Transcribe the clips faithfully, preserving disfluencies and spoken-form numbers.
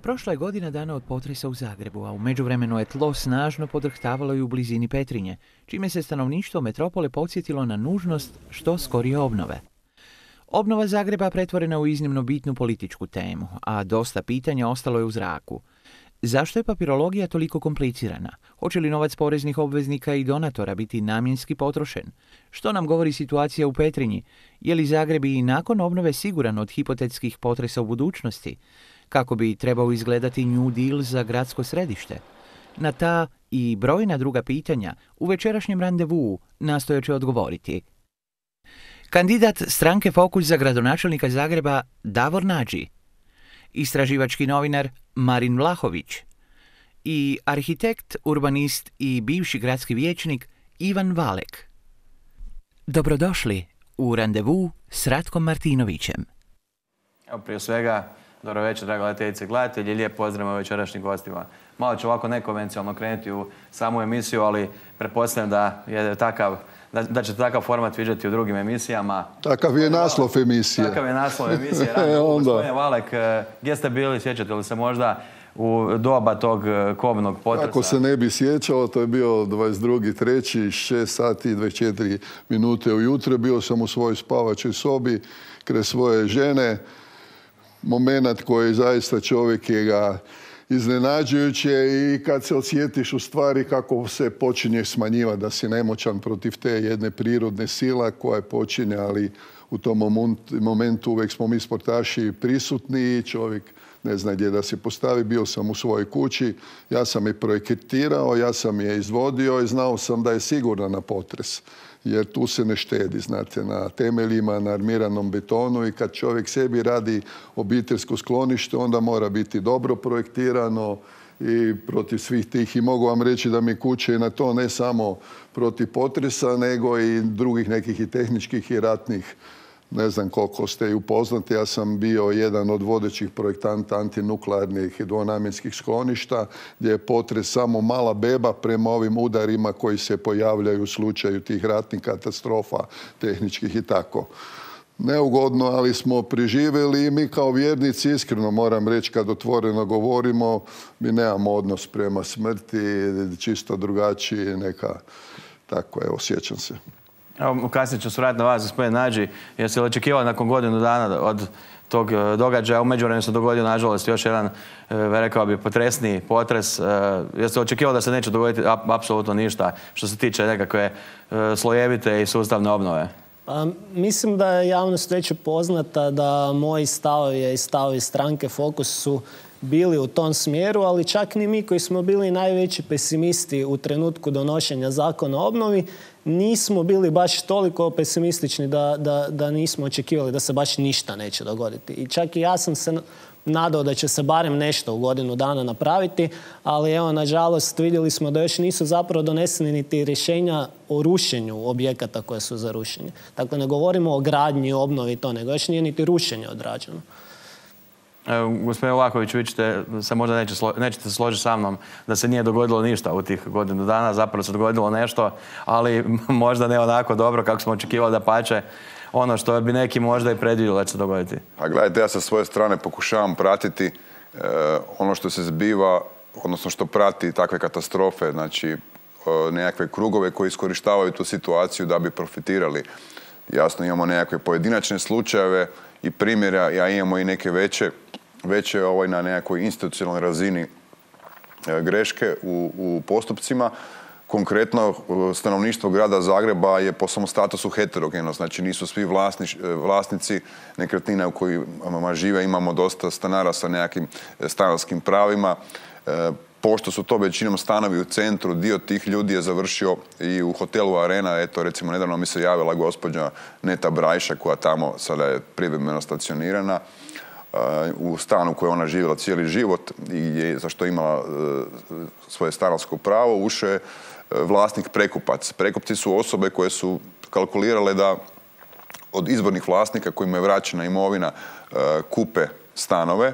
Prošla je godina dana od potresa u Zagrebu, a u međuvremenu je tlo snažno podrhtavalo i u blizini Petrinje, čime se stanovništvo metropole podsjetilo na nužnost što skorije obnove. Obnova Zagreba pretvorena u iznimno bitnu političku temu, a dosta pitanja ostalo je u zraku. Zašto je papirologija toliko komplicirana? Hoće li novac poreznih obveznika i donatora biti namjenski potrošen? Što nam govori situacija u Petrinji? Je li Zagreb i nakon obnove siguran od hipotetskih potresa u budućnosti? Kako bi trebao izgledati New Deal za gradsko središte? Na ta i brojna druga pitanja u večerašnjem randevuu nastojat će odgovoriti kandidat stranke Fokus za gradonačelnika Zagreba Davor Nađi, istraživački novinar Marin Vlahović i arhitekt, urbanist i bivši gradski vijećnik Ivan Valek. Dobrodošli u randevu s Ratkom Martinovićem. Evo, prije svega, dobro večer, draga gledateljice i gledatelji, lijep pozdrav večerašnjim gostima. Malo ću ovako nekonvencionalno krenuti u samu emisiju, ali pretpostavljam da je takav Da, da ćete takav format viđati u drugim emisijama. Takav je naslov emisije. Takav je naslov emisije. Gospodine Valek, gdje ste bili, sjećate li se možda u doba tog kobnog potresa? Ako se ne bi sjećao, to je bio dvadeset drugi treći šest sati i dvadeset četiri minute ujutro. Bio sam u svojoj spavačoj sobi kraj svoje žene. Momenat koji zaista čovjek je ga iznenađujuće i kad se osjetiš u stvari kako se počinje smanjivati, da si nemoćan protiv te jedne prirodne sila koja počinje, ali u tom momentu uvijek smo mi sportaši prisutni i čovjek ne zna gdje da se postavi. Bio sam u svojoj kući, ja sam je projektirao, ja sam je izvodio i znao sam da je sigurna na potres. Jer tu se ne štedi, znate, na temeljima, na armiranom betonu i kad čovjek sebi radi obiteljsko sklonište, onda mora biti dobro projektirano i protiv svih tih. I mogu vam reći da mi kuće na to ne samo protiv potresa, nego i drugih nekih i tehničkih i ratnih. Ne znam koliko ste i upoznati, ja sam bio jedan od vodećih projektanta antinuklearnih i dvonamjenskih skloništa, gdje je potres samo mala beba prema ovim udarima koji se pojavljaju u slučaju tih ratnih katastrofa, tehničkih i tako. Neugodno, ali smo preživjeli i mi kao vjernici, iskreno moram reći, kad otvoreno govorimo, mi nemamo odnos prema smrti, čisto drugačiji, neka, tako, evo, sjećam se. Evo, kasnije ću se vratiti na vas, gospodin Nađi. Jeste li očekivali nakon godinu dana od tog događaja? U međuvremenu se dogodio, nažalost, još jedan, rekao bi, potresniji potres. Jeste li očekivali da se neće dogoditi apsolutno ništa što se tiče nekakve slojevite i sustavne obnove? Pa, mislim da je javnost već upoznata da moji stavovi i stavovi stranke Fokus su bili u tom smjeru, ali čak ni mi koji smo bili najveći pesimisti u trenutku donošenja zakona o obnovi, nismo bili baš toliko pesimistični da, da, da nismo očekivali da se baš ništa neće dogoditi. I čak i ja sam se nadao da će se barem nešto u godinu dana napraviti, ali evo, nažalost, vidjeli smo da još nisu zapravo doneseni niti rješenja o rušenju objekata koje su za rušenje. Dakle, ne govorimo o gradnji, obnovi i to, nego još nije niti rušenje odrađeno. Evo, gospodine Vlahović, vi ćete se možda neće, nećete se složiti sa mnom da se nije dogodilo ništa u tih godinu dana, zapravo se dogodilo nešto, ali možda ne onako dobro kako smo očekivali, da pače ono što bi neki možda i predvidjeli da će se dogoditi. A gledajte, ja sa svoje strane pokušavam pratiti e, ono što se zbiva, odnosno što prati takve katastrofe, znači e, nekakve krugove koji iskorištavaju tu situaciju da bi profitirali. Jasno, imamo nekakve pojedinačne slučajeve i primjera, a imamo i neke veće, veće ovaj, na nekakvoj institucionalnoj razini e, greške u, u postupcima. Konkretno, stanovništvo grada Zagreba je po svom statusu heterogeno, znači nisu svi vlasnič, vlasnici nekretnina u kojima žive, imamo dosta stanara sa nekakvim stanarskim pravima. E, pošto su to većinom stanovi u centru, dio tih ljudi je završio i u hotelu Arena. Eto, recimo, nedavno mi se javila gospođa Neta Brajša, koja tamo sada je privremeno stacionirana u stanu u kojoj ona živjela cijeli život i je, za što je imala svoje stanarsko pravo, ušao je vlasnik prekupac. Prekupci su osobe koje su kalkulirale da od izvornih vlasnika kojima je vraćena imovina kupe stanove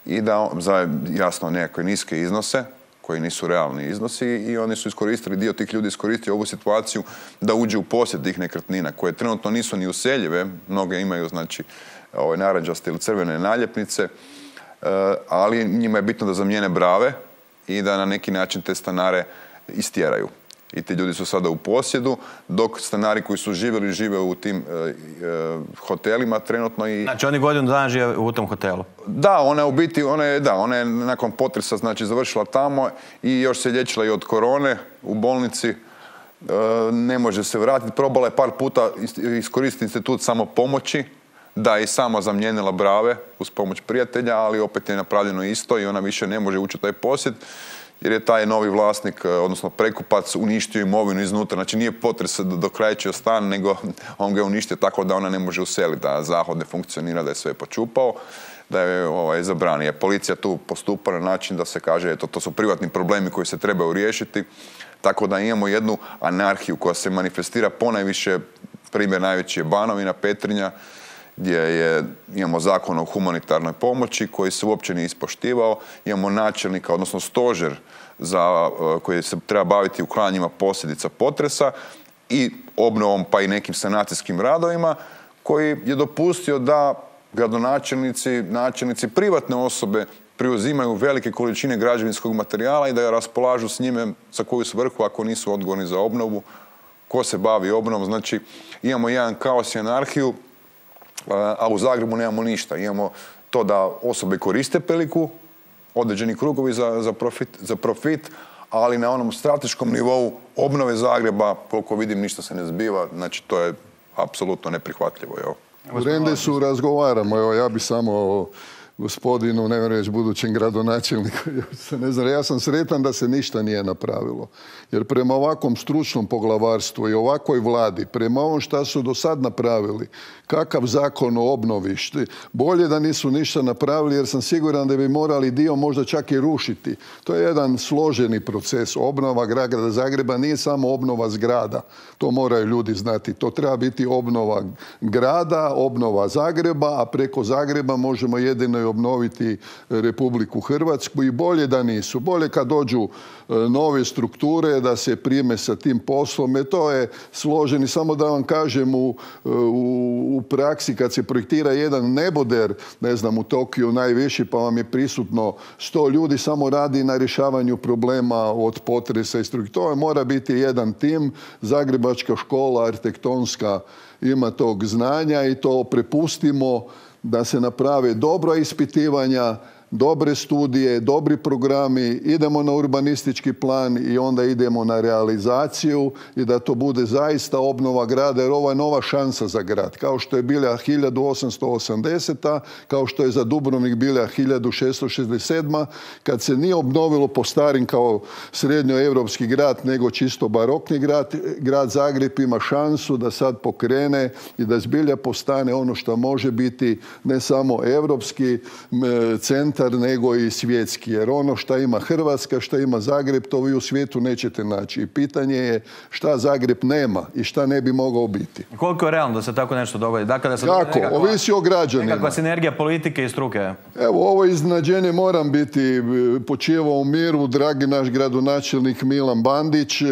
i da za, jasno, nekakve niske iznose, koji nisu realni iznosi, i oni su iskoristili, dio tih ljudi iskoristio ovu situaciju da uđe u posjed tih nekretnina, koje trenutno nisu ni useljive, mnoge imaju, znači, ovaj, narančaste ili crvene naljepnice, ali njima je bitno da zamijene brave i da na neki način te stanare istjeraju. I ti ljudi su sada u posjedu, dok stanari koji su živjeli, žive u tim e, e, hotelima trenutno. I... Znači oni godinu dana žive u tom hotelu? Da, ona je u biti, ona je, da, ona je nakon potresa znači, završila tamo i još se liječila i od korone u bolnici. E, ne može se vratiti. Probala je par puta iskoristiti institut samopomoći, da je i sama zamijenila brave uz pomoć prijatelja, ali opet je napravljeno isto i ona više ne može ući u taj posjed, jer je taj novi vlasnik, odnosno prekupac, uništio imovinu iznutra. Znači nije potres dokrajčio stan, nego on ga je uništio tako da ona ne može useliti, da zahod ne funkcionira, da je sve počupao, da je ovaj, zabranio. Policija tu postupa na način da se kaže, eto, to su privatni problemi koji se trebaju riješiti, tako da imamo jednu anarhiju koja se manifestira ponajviše, primjer najveći je Banovina, Petrinja, gdje je, imamo zakon o humanitarnoj pomoći koji se uopće nije ispoštivao, imamo načelnika, odnosno stožer za, koji se treba baviti uklanjanjima posljedica potresa i obnovom pa i nekim sanacijskim radovima, koji je dopustio da gradonačelnici, načelnici, privatne osobe preuzimaju velike količine građevinskog materijala i da raspolažu s njime za koju svrhu ako nisu odgovorni za obnovu, ko se bavi obnovom. Znači imamo jedan kaos i anarhiju, a u Zagrebu nemamo ništa. Imamo to da osobe koriste priliku, određeni krugovi za, za, profit, za profit, ali na onom strateškom nivou obnove Zagreba, koliko vidim, ništa se ne zbiva. Znači, to je apsolutno neprihvatljivo. Evo. U Rendesu razgovaramo. Evo, ja bi samo gospodinu, ne reći budućem gradonačelniku, ne znam, ja sam sretan da se ništa nije napravilo. Jer prema ovakvom stručnom poglavarstvu i ovakvoj vladi, prema ovom šta su do sad napravili, kakav zakon o obnovi, bolje da nisu ništa napravili, jer sam siguran da bi morali dio možda čak i rušiti. To je jedan složeni proces. Obnova grada Zagreba nije samo obnova zgrada. To moraju ljudi znati. To treba biti obnova grada, obnova Zagreba, a preko Zagreba možemo jedino i obnoviti Republiku Hrvatsku i bolje da nisu. Bolje kad dođu nove strukture, da se prime sa tim poslom. E to je složeni. Samo da vam kažem, u, u, u praksi kad se projektira jedan neboder, ne znam, u Tokiju najviši, pa vam je prisutno sto ljudi, samo radi na rješavanju problema od potresa i struktura. To mora biti jedan tim. Zagrebačka škola arhitektonska ima tog znanja i to prepustimo da se naprave dobra ispitivanja, dobre studije, dobri programi, idemo na urbanistički plan i onda idemo na realizaciju i da to bude zaista obnova grada, jer ovo je nova šansa za grad. Kao što je bila hiljadu osamsto osamdeseta. kao što je za Dubrovnik bila hiljadu šesto šezdeset sedma. kad se nije obnovilo po starim kao srednjoevropski grad, nego čisto barokni grad, grad Zagreb ima šansu da sad pokrene i da zbilja postane ono što može biti ne samo europski centar, nego i svjetski. Jer ono što ima Hrvatska, što ima Zagreb, to vi u svijetu nećete naći. I pitanje je šta Zagreb nema i šta ne bi mogao biti. Koliko je realno da se tako nešto dogodi? Dakle, da se Kako? Nekakva, ovisi o građanima. Nekakva sinergija politike i struke. Evo, ovo iznenađenje moram biti počivao u miru. Dragi naš gradonačelnik Milan Bandić,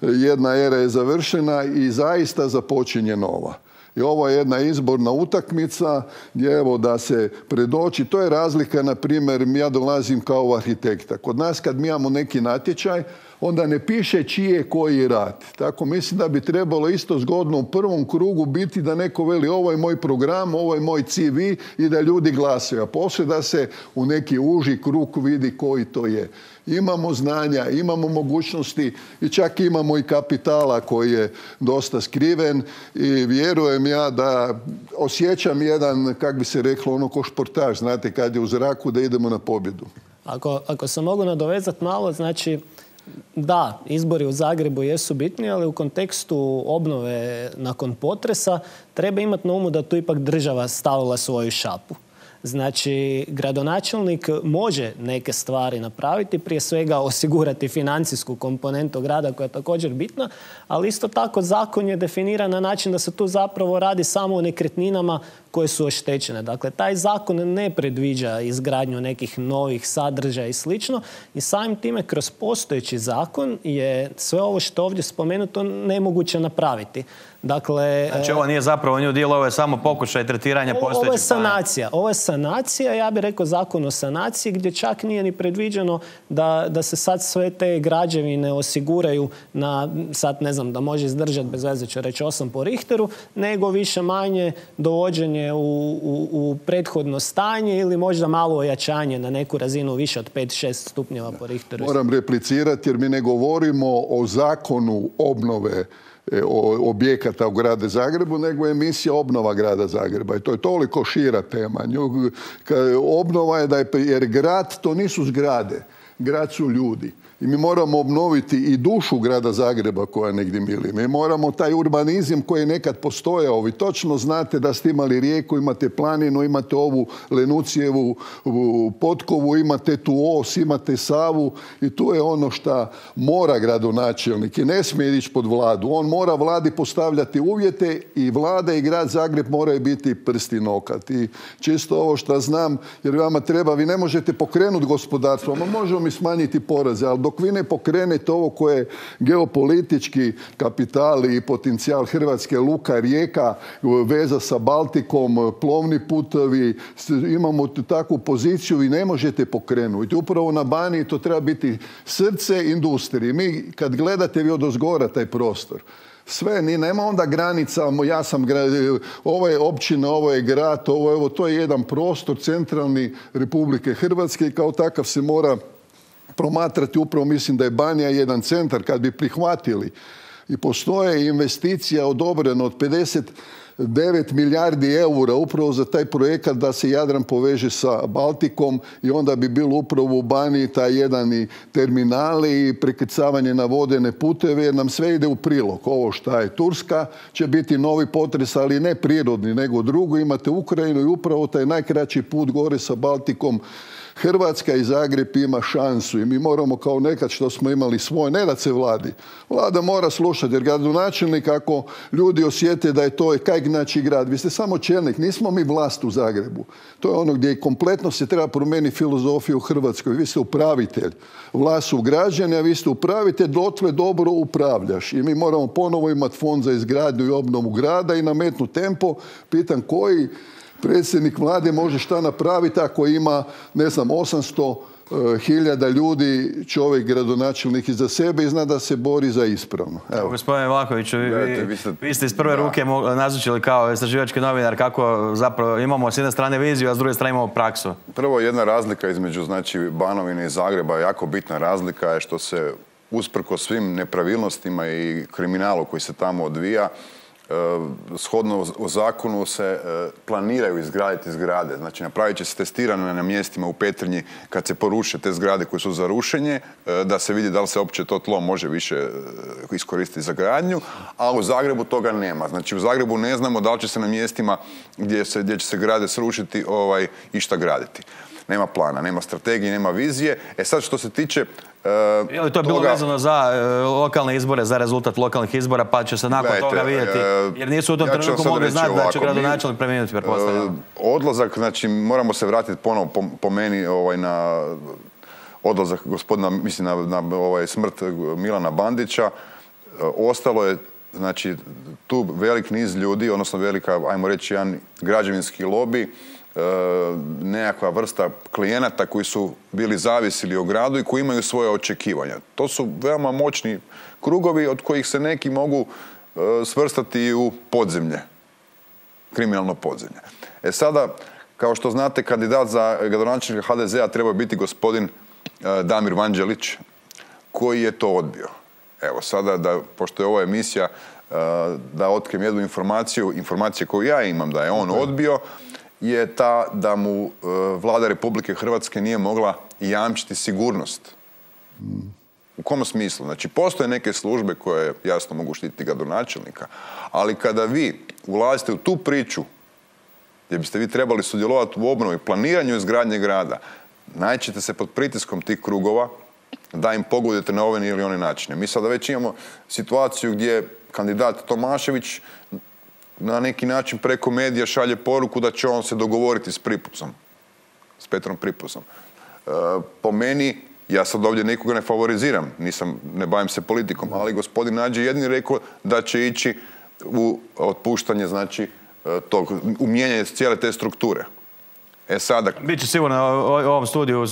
jedna era je završena i zaista započinje nova. I ovo je jedna izborna utakmica gdje evo da se predoči. To je razlika, na primjer, ja dolazim kao arhitekta. Kod nas kad mi imamo neki natječaj, onda ne piše čiji je koji rad. Tako mislim da bi trebalo isto zgodno u prvom krugu biti da neko veli ovo je moj program, ovo je moj C V i da ljudi glasaju. A poslije da se u neki uži krug vidi koji to je. Imamo znanja, imamo mogućnosti i čak imamo i kapitala koji je dosta skriven i vjerujem ja da osjećam jedan, kak bi se reklo, ono ko športaš, znate, kad je u zraku da idemo na pobjedu. Ako, ako se mogu nadovezati malo, znači da, izbori u Zagrebu jesu bitni, ali u kontekstu obnove nakon potresa treba imati na umu da tu ipak država stavila svoju šapu. Znači, gradonačelnik može neke stvari napraviti, prije svega osigurati financijsku komponentu grada koja je također bitna, ali isto tako zakon je definiran na način da se tu zapravo radi samo o nekretninama koje su oštećene. Dakle, taj zakon ne predviđa izgradnju nekih novih sadržaja i slično i samim time kroz postojeći zakon je sve ovo što je ovdje spomenuto nemoguće napraviti. Dakle, znači ovo nije zapravo new deal, ovo je samo pokušaj tretiranja postojećeg. Ovo je sanacija. Ovo je sanacija, ja bih rekao zakon o sanaciji gdje čak nije ni predviđeno da, da se sad sve te građevine osiguraju na, sad ne znam, da može izdržati bez veze ću reći osam po Richteru, nego više manje dovođenje u, u, u prethodno stanje ili možda malo ojačanje na neku razinu više od pet šest stupnjeva po Richteru. Moram replicirati jer mi ne govorimo o zakonu obnove objekata u gradu Zagrebu, nego je emisija obnova grada Zagreba. I to je toliko šira tema. Obnova je da je, jer grad to nisu zgrade. Grad su ljudi. I mi moramo obnoviti i dušu grada Zagreba koja negdje mili. Mi moramo taj urbanizam koji je nekad postojao. Vi točno znate da ste imali rijeku, imate planinu, imate ovu Lenucijevu potkovu, imate tu os, imate Savu i tu je ono što mora gradonačelnik i ne smije ići pod vladu. On mora vladi postavljati uvjete i vlada i grad Zagreb moraju biti prsti nokat. I čisto ovo što znam, jer vama treba, vi ne možete pokrenuti gospodarstvo, ma možemo mi smanjiti poreze, ali dok vi ne pokrenete ovo koje je geopolitički kapital i potencijal Hrvatske, luka, rijeka, veza sa Baltikom, plovni putovi, imamo takvu poziciju, vi ne možete pokrenuti. Upravo na Baniji to treba biti srce industrije. Mi kad gledate vi odozgora taj prostor, sve, ni nema onda granica, ja sam grad, ovo je općina, ovo je grad, ovo je, ovo, to je jedan prostor centralni Republike Hrvatske i kao takav se mora promatrati. Upravo mislim da je Banija jedan centar kad bi prihvatili i postoje investicija odobrena od pedeset devet milijardi eura upravo za taj projekat da se Jadran poveže sa Baltikom i onda bi bilo upravo u Baniji taj jedan i terminali i prekrcavanje na vodene puteve jer nam sve ide u prilog. Ovo šta je Turska će biti novi potres, ali ne prirodni nego drugo. Imate Ukrajinu i upravo taj najkraći put gore sa Baltikom. Hrvatska i Zagreb ima šansu i mi moramo kao nekad što smo imali svoj, ne da se vladi. Vlada mora slušati jer gradonačelnik ako ljudi osjete da je to kaj znači grad. Vi ste samo čelnik, nismo mi vlast u Zagrebu. To je ono gdje kompletno se treba promijeniti filozofiju u Hrvatskoj. Vi ste upravitelj. Vlast su građani, a vi ste upravitelj, dotle dobro upravljaš. I mi moramo ponovo imati fond za izgradnju i obnovu grada i nametnuti tempo. Pitam koji predsjednik vlade može šta napraviti ako ima, ne znam, osamsto hiljada ljudi, čovjek gradonačelnik iza sebe i zna da se bori za ispravno. Evo. Gospodine Vlahoviću, vi, vi, vi ste iz prve da. ruke nazočili kao istraživački novinar kako zapravo imamo s jedne strane viziju, a s druge strane imamo praksu. Prvo, jedna razlika između znači, Banovine i Zagreba, jako bitna razlika je što se usprko svim nepravilnostima i kriminalu koji se tamo odvija, shodno u zakonu se planiraju izgraditi zgrade. Znači, napravit će se testirane na mjestima u Petrinji kad se poruše te zgrade koje su za rušenje, da se vidi da li se uopće to tlo može više iskoristiti za gradnju, a u Zagrebu toga nema. Znači, u Zagrebu ne znamo da li će se na mjestima gdje, se, gdje će se grade srušiti ovaj, išta graditi. Nema plana, nema strategije, nema vizije. E sad, što se tiče Uh, je li to bilo toga, vezano za uh, lokalne izbore, za rezultat lokalnih izbora, pa će se nakon gledajte, toga vidjeti, jer nisu u tom ja trenutku mogli znati da će gradonačelnik preminuti, pretpostavljam. Uh, odlazak, znači, moramo se vratiti ponovo po, po meni ovaj, na odlazak gospodina, mislim, na, na ovaj, smrt Milana Bandića. Uh, ostalo je, znači, tu velik niz ljudi, odnosno velika, ajmo reći, jedan građevinski lobi, nekakva vrsta klijenata koji su bili zavisili o gradu i koji imaju svoje očekivanja. To su veoma moćni krugovi od kojih se neki mogu svrstati u podzemlje, kriminalno podzemlje. E sada, kao što znate, kandidat za gradonačelnika ha de zea treba biti gospodin Damir Vanđelić, koji je to odbio. Evo sada, da, pošto je ova emisija, da otkrijem jednu informaciju, informacije koju ja imam da je on odbio, je ta da mu vlada Republike Hrvatske nije mogla jamčiti sigurnost. U kom smislu? Znači, postoje neke službe koje jasno mogu štititi gradonačelnika, ali kada vi ulazite u tu priču gdje biste vi trebali sudjelovati u obnovi, planiranju izgradnje grada, naćete se pod pritiskom tih krugova da im pogodujete na ove ili one načine. Mi sada već imamo situaciju gdje kandidat Tomašević na neki način preko medija šalje poruku da će on se dogovoriti s Pripusom, s Petrom Pripusom. E, po meni, ja sad ovdje nikoga ne favoriziram, nisam, ne bavim se politikom, ali gospodin Nađi jedini rekao da će ići u otpuštanje, znači, tog, u mijenjanje cijele te strukture. E sada... Biće sigurno u ovom studiju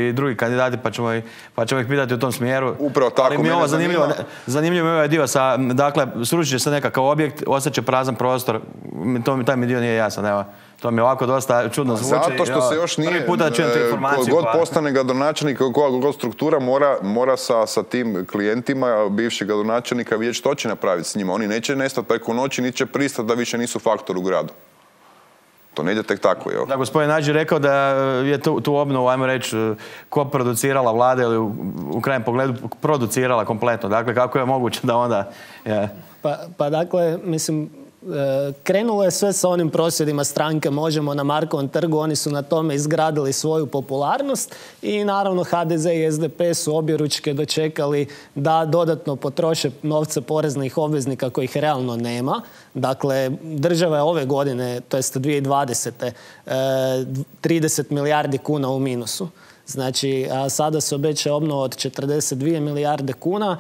i drugi kandidati, pa ćemo, ih, pa ćemo ih pitati u tom smjeru. Upravo tako. Ali mi je ovo zanimljivo, zanima... zanimljivo je ovaj dio sa, dakle, sručit će se nekakav objekt, ostaće prazan prostor, to, taj mi dio nije jasan, evo. To mi ovako dosta čudno zvuči. Zato što se još nije, puta čujem tu informaciju. God pa... postane gradonačelnik, koja god struktura mora, mora sa, sa tim klijentima bivšeg gradonačelnika vidjeti što će napraviti s njima. Oni neće nestati preko noći, niti će pristati da više nisu faktor u gradu. To ne ide tek tako, jel? Da, gospodin Nađi rekao da je tu, tu obnovu, ajmo reći, ko producirala vlada ili u, u krajem pogledu producirala kompletno. Dakle, kako je moguće da onda... Je... Pa, pa dakle, mislim, krenulo je sve sa onim prosvjedima stranke Možemo na Markovom trgu, oni su na tome izgradili svoju popularnost i naravno ha de ze i es de pe su objeručke dočekali da dodatno potroše novce poreznih obveznika kojih realno nema. Dakle, država je ove godine, to jest dvije tisuće dvadesete. trideset milijardi kuna u minusu. Znači, a sada se obećaje obnova od četrdeset dvije milijarde kuna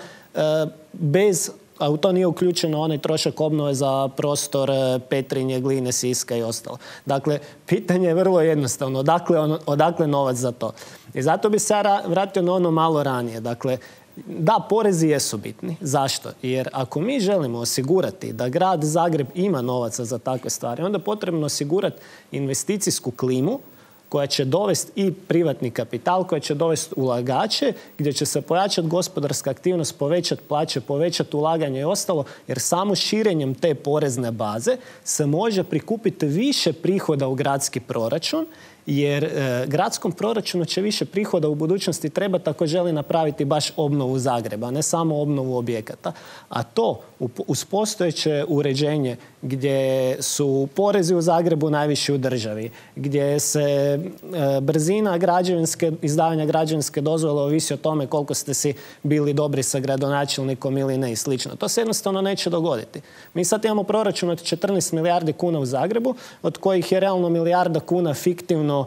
bez... a u to nije uključeno onaj trošak obnove za prostor Petrinje, Gline, Siska i ostalo. Dakle, pitanje je vrlo jednostavno. Odakle, on, odakle novac za to? I zato bi se ja vratio na ono malo ranije. Dakle, da, porezi jesu bitni. Zašto? Jer ako mi želimo osigurati da grad Zagreb ima novaca za takve stvari, onda je potrebno osigurati investicijsku klimu koja će dovesti i privatni kapital, koja će dovesti ulagače, gdje će se pojačati gospodarska aktivnost, povećati plaće, povećati ulaganje i ostalo, jer samo širenjem te porezne baze se može prikupiti više prihoda u gradski proračun, jer e, gradskom proračunu će više prihoda u budućnosti trebati ako želi napraviti baš obnovu Zagreba, ne samo obnovu objekata. A to uz postojeće uređenje gdje su porezi u Zagrebu najviši u državi, gdje se e, brzina građevinske, izdavanja građevinske dozvole ovisi o tome koliko ste si bili dobri sa gradonačelnikom ili ne i slično. To se jednostavno neće dogoditi. Mi sad imamo proračun od četrnaest milijardi kuna u Zagrebu, od kojih je realno milijarda kuna fiktivno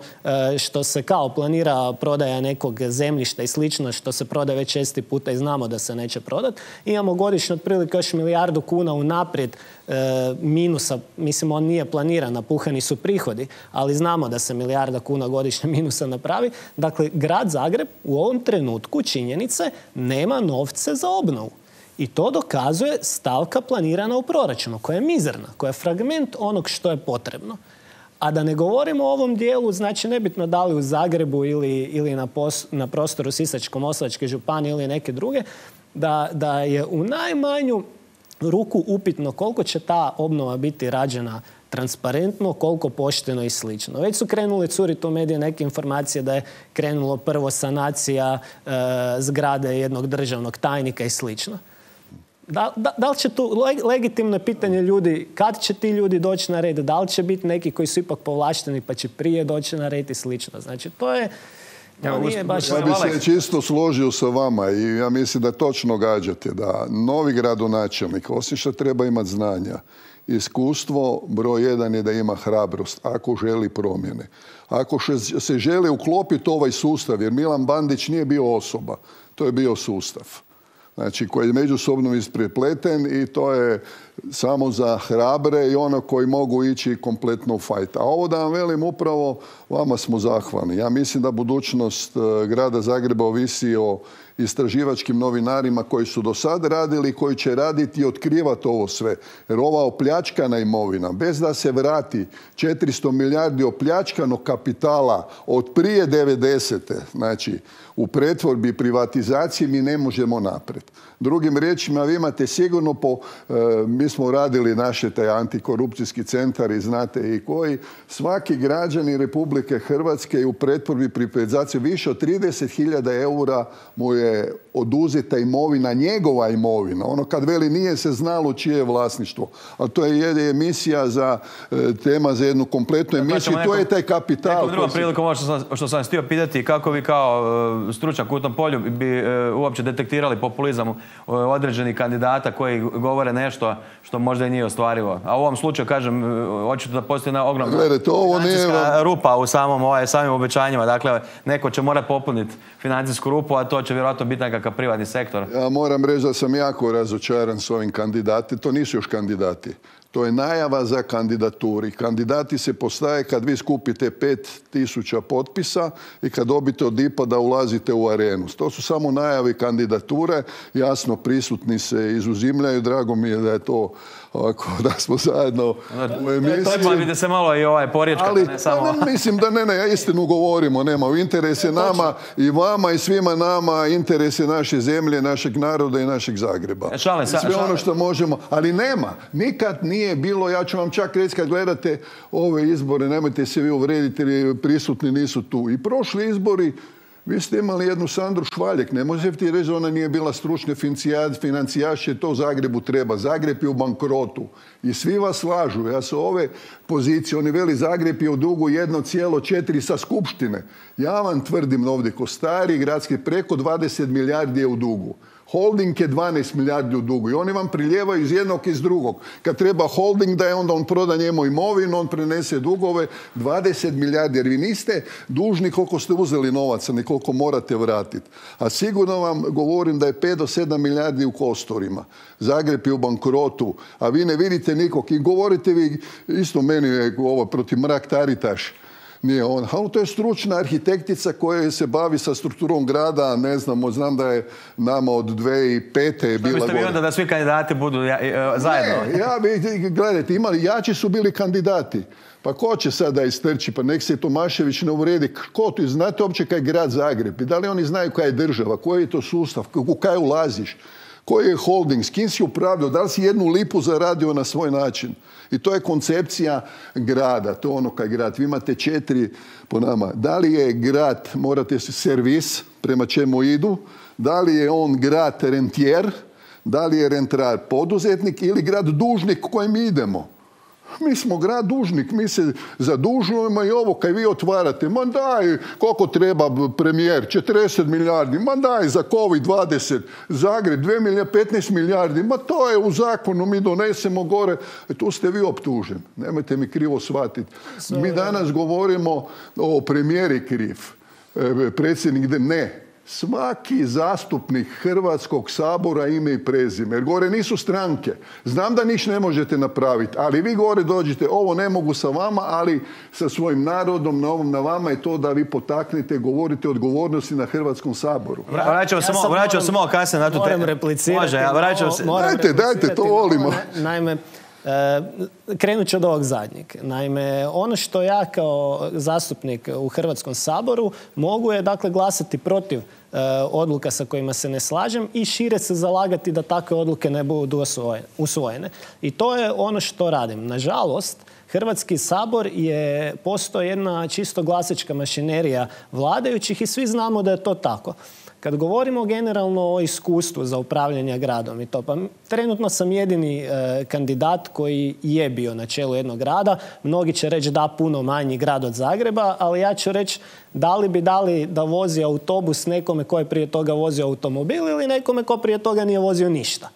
što se kao planira prodaja nekog zemljišta i slično, što se prodaje već česti puta i znamo da se neće prodati. Imamo godišnje otprilike još milijardu kuna unaprijed e, minusa, mislim on nije planiran, napuhani su prihodi, ali znamo da se milijarda kuna godišnje minusa napravi. Dakle, grad Zagreb u ovom trenutku, činjenice, nema novce za obnovu. I to dokazuje stavka planirana u proračunu, koja je mizerna, koja je fragment onog što je potrebno. A da ne govorimo o ovom dijelu, znači nebitno da li u Zagrebu ili, ili na, pos, na prostoru Sisačko-moslavačke županije ili neke druge, da, da je u najmanju ruku upitno koliko će ta obnova biti rađena transparentno, koliko pošteno i slično. Već su krenule curiti u medije neke informacije da je krenulo prvo sanacija e, zgrade jednog državnog tajnika i slično. Da, da, da li će tu, legitimno je pitanje ljudi, kad će ti ljudi doći na red, da li će biti neki koji su ipak povlašteni pa će prije doći na red i slično. Znači, to je... Ja, nije baš... ja bih se čisto složio sa vama i ja mislim da točno gađate da novi gradonačelnik, osim što treba imati znanja, iskustvo broj jedan je da ima hrabrost ako želi promjene. Ako se želi uklopiti ovaj sustav, jer Milan Bandić nije bio osoba, to je bio sustav. Znači, koji je međusobno isprepleten i to je samo za hrabre i ono koji mogu ići kompletno u fajt. A ovo da vam velim, upravo vama smo zahvalni. Ja mislim da budućnost grada Zagreba ovisi o istraživačkim novinarima koji su do sad radili i koji će raditi i otkrivati ovo sve. Jer ova opljačkana imovina, bez da se vrati četiristo milijardi opljačkanog kapitala od prije devedesete, znači u pretvorbi i privatizaciji mi ne možemo naprijed. Drugim riječima, vi imate sigurno po, e, mi smo radili naše taj antikorupcijski centar i znate i koji, svaki građanin Republike Hrvatske u pretvorbi i privatizaciji više od trideset hiljada eura mu je oduzeta imovina, njegova imovina. Ono kad veli nije se znalo čije je vlasništvo. Ali to je emisija za tema za jednu kompletnu emisiju. To je taj kapital. Nekom drugom prilikom ovo što sam, što sam htio pitati, kako vi kao stručnjak u tom polju bi uopće detektirali populizam određenih kandidata koji govore nešto što možda i nije ostvarivo. A u ovom slučaju, kažem, očito da postoji jedna ogromna financijska rupa u samom, ovaj, samim obećanjima. Dakle, neko će morati popuniti financijsku rupu, a to će vjerojatno biti nekakav privatni sektor. Ja moram reći da sam jako razočaran s ovim kandidati. To nisu još kandidati. To je najava za kandidaturi. Kandidati se postaje kad vi skupite pet tisuća potpisa i kad dobite od I P A da ulazite u arenu. To su samo najave kandidature. Jasno, prisutni se izuzimljaju. Drago mi je da je to ovako, da smo zajedno u emisiji. To je se malo i ovaj porječka, ne samo... Ne, mislim da ne, ne, ja istinu govorimo, nema. U interes je nama i vama i svima nama, interes je naše zemlje, našeg naroda i našeg Zagreba. E, šale, sa, sve šale. ono što možemo, ali nema. Nikad nije bilo, ja ću vam čak reći kad gledate ove izbore, nemojte se vi uvrediti jer prisutni nisu tu. I prošli izbori, vi ste imali jednu Sandru Švaljek, ne možete ti reći da ona nije bila stručna financijaš, to Zagrebu treba. Zagreb je u bankrotu i svi vas slažu. Ja sa ove pozicije, oni veli Zagreb je u dugu jedno zarez četiri sa skupštine. Ja vam tvrdim ovdje ko stari gradski preko dvadeset milijardi je u dugu. Holding je dvanaest milijardi u dugu i oni vam priljevaju iz jednog i iz drugog. Kad treba holding da je onda on proda njemu imovinu, on prenese dugove dvadeset milijardi jer vi niste dužni koliko ste uzeli novaca, ni koliko morate vratiti. A sigurno vam govorim da je pet do sedam milijardi u kostorima. Zagreb je u bankrotu, a vi ne vidite nikog. I govorite vi, isto meni je ovo protiv Mrak-Taritaš. Nije on. Ali to je stručna arhitektica koja se bavi sa strukturom grada, ne znamo, znam da je nama od dvije tisuće pete je bila... Što biste vi onda da svi kandidati budu ja, zajedno? Ne, ja bi, gledajte, imali, jači su bili kandidati. Pa ko će sada istrči? Pa nek se Tomašević ne uvredi. Ko tu? Znate uopće kaj je grad Zagreb? I da li oni znaju kaj je država? Koji je to sustav? U kaj ulaziš? Koji je holding? S kim si upravljao? Da li si jednu lipu zaradio na svoj način? I to je koncepcija grada. To je ono kaj grad. Vi imate četiri po nama. Da li je grad, morate se servis prema čemu idu, da li je on grad rentijer, da li je rentrar poduzetnik ili grad dužnik kojem idemo. Mi smo grad dužnik, mi se zadužujemo i ovo kaj vi otvarate, ma daj koliko treba premijer, četrdeset milijardi, ma daj za COVID dvadeset, Zagreb dvije milijarde, petnaest milijardi, ma to je u zakonu, mi donesemo gore, e, tu ste vi optuženi, nemojte mi krivo shvatiti. Mi danas govorimo o premijeri kriv, e, predsjednik, ne. Svaki zastupnik Hrvatskog sabora ime i prezime. Jer gore nisu stranke. Znam da niš ne možete napraviti, ali vi gore dođete, ovo ne mogu sa vama, ali sa svojim narodom, na ovom na vama je to da vi potaknete, govorite o odgovornosti na Hrvatskom saboru. Ja, vraćamo se ja samo kasnije na tu temu. Moram replicirati. Može, ja vraćam se. Dajte, dajte, to volimo. Naime, E, krenut ću od ovog zadnjeg. Naime, ono što ja kao zastupnik u Hrvatskom saboru mogu je dakle glasati protiv e, odluka sa kojima se ne slažem i šire se zalagati da takve odluke ne budu usvojene. I to je ono što radim. Nažalost, Hrvatski sabor je postao jedna čisto glasačka mašinerija vladajućih i svi znamo da je to tako. Kad govorimo generalno o iskustvu za upravljanje gradom i to, pa trenutno sam jedini e, kandidat koji je bio na čelu jednog grada. Mnogi će reći da puno manji grad od Zagreba, ali ja ću reći da li bi dali da vozi autobus nekome ko je prije toga vozio automobil ili nekome ko prije toga nije vozio ništa.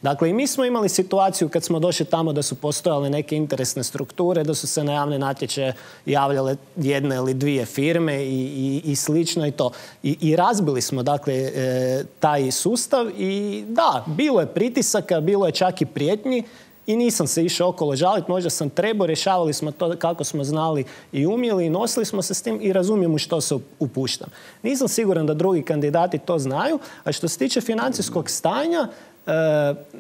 Dakle, i mi smo imali situaciju kad smo došli tamo da su postojale neke interesne strukture, da su se na javne natječaje javljale jedne ili dvije firme i, i, i slično i to. I, i razbili smo, dakle, e, taj sustav i da, bilo je pritisaka, bilo je čak i prijetnji i nisam se išao okolo žaliti, možda sam trebao, rješavali smo to kako smo znali i umjeli i nosili smo se s tim i razumijem u što se upuštam. Nisam siguran da drugi kandidati to znaju, a što se tiče financijskog stanja, Uh,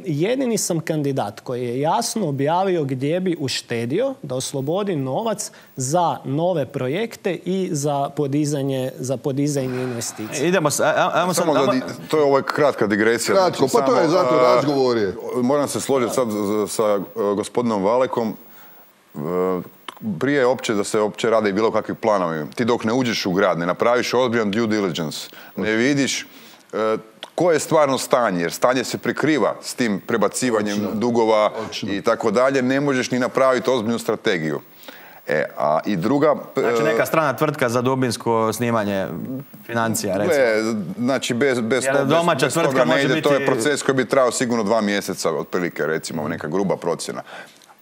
jedini sam kandidat koji je jasno objavio gdje bi uštedio da oslobodi novac za nove projekte i za podizanje, za podizanje investicija. Idemo s, ajmo Samo da, to je ovo kratka digresija. Kratko, znači, pa to je zato a, razgovor je. Moram se složiti sad sa gospodinom Valekom. Prije opće da se opće rade i bilo kakvi planovi. Ti dok ne uđeš u grad, ne napraviš ozbiljan due diligence, ne vidiš koje je stvarno stanje, jer stanje se prikriva s tim prebacivanjem Očno. dugova Očno. i tako dalje, ne možeš ni napraviti ozbiljnu strategiju. E, a i druga... Znači neka strana tvrtka za dubinsko snimanje financija, recimo. Ne, znači bez, bez, Jer to, domaća bez, bez tvrtka toga ne može ide, biti- to je proces koji bi trajao sigurno dva mjeseca, otprilike, recimo, neka gruba procjena.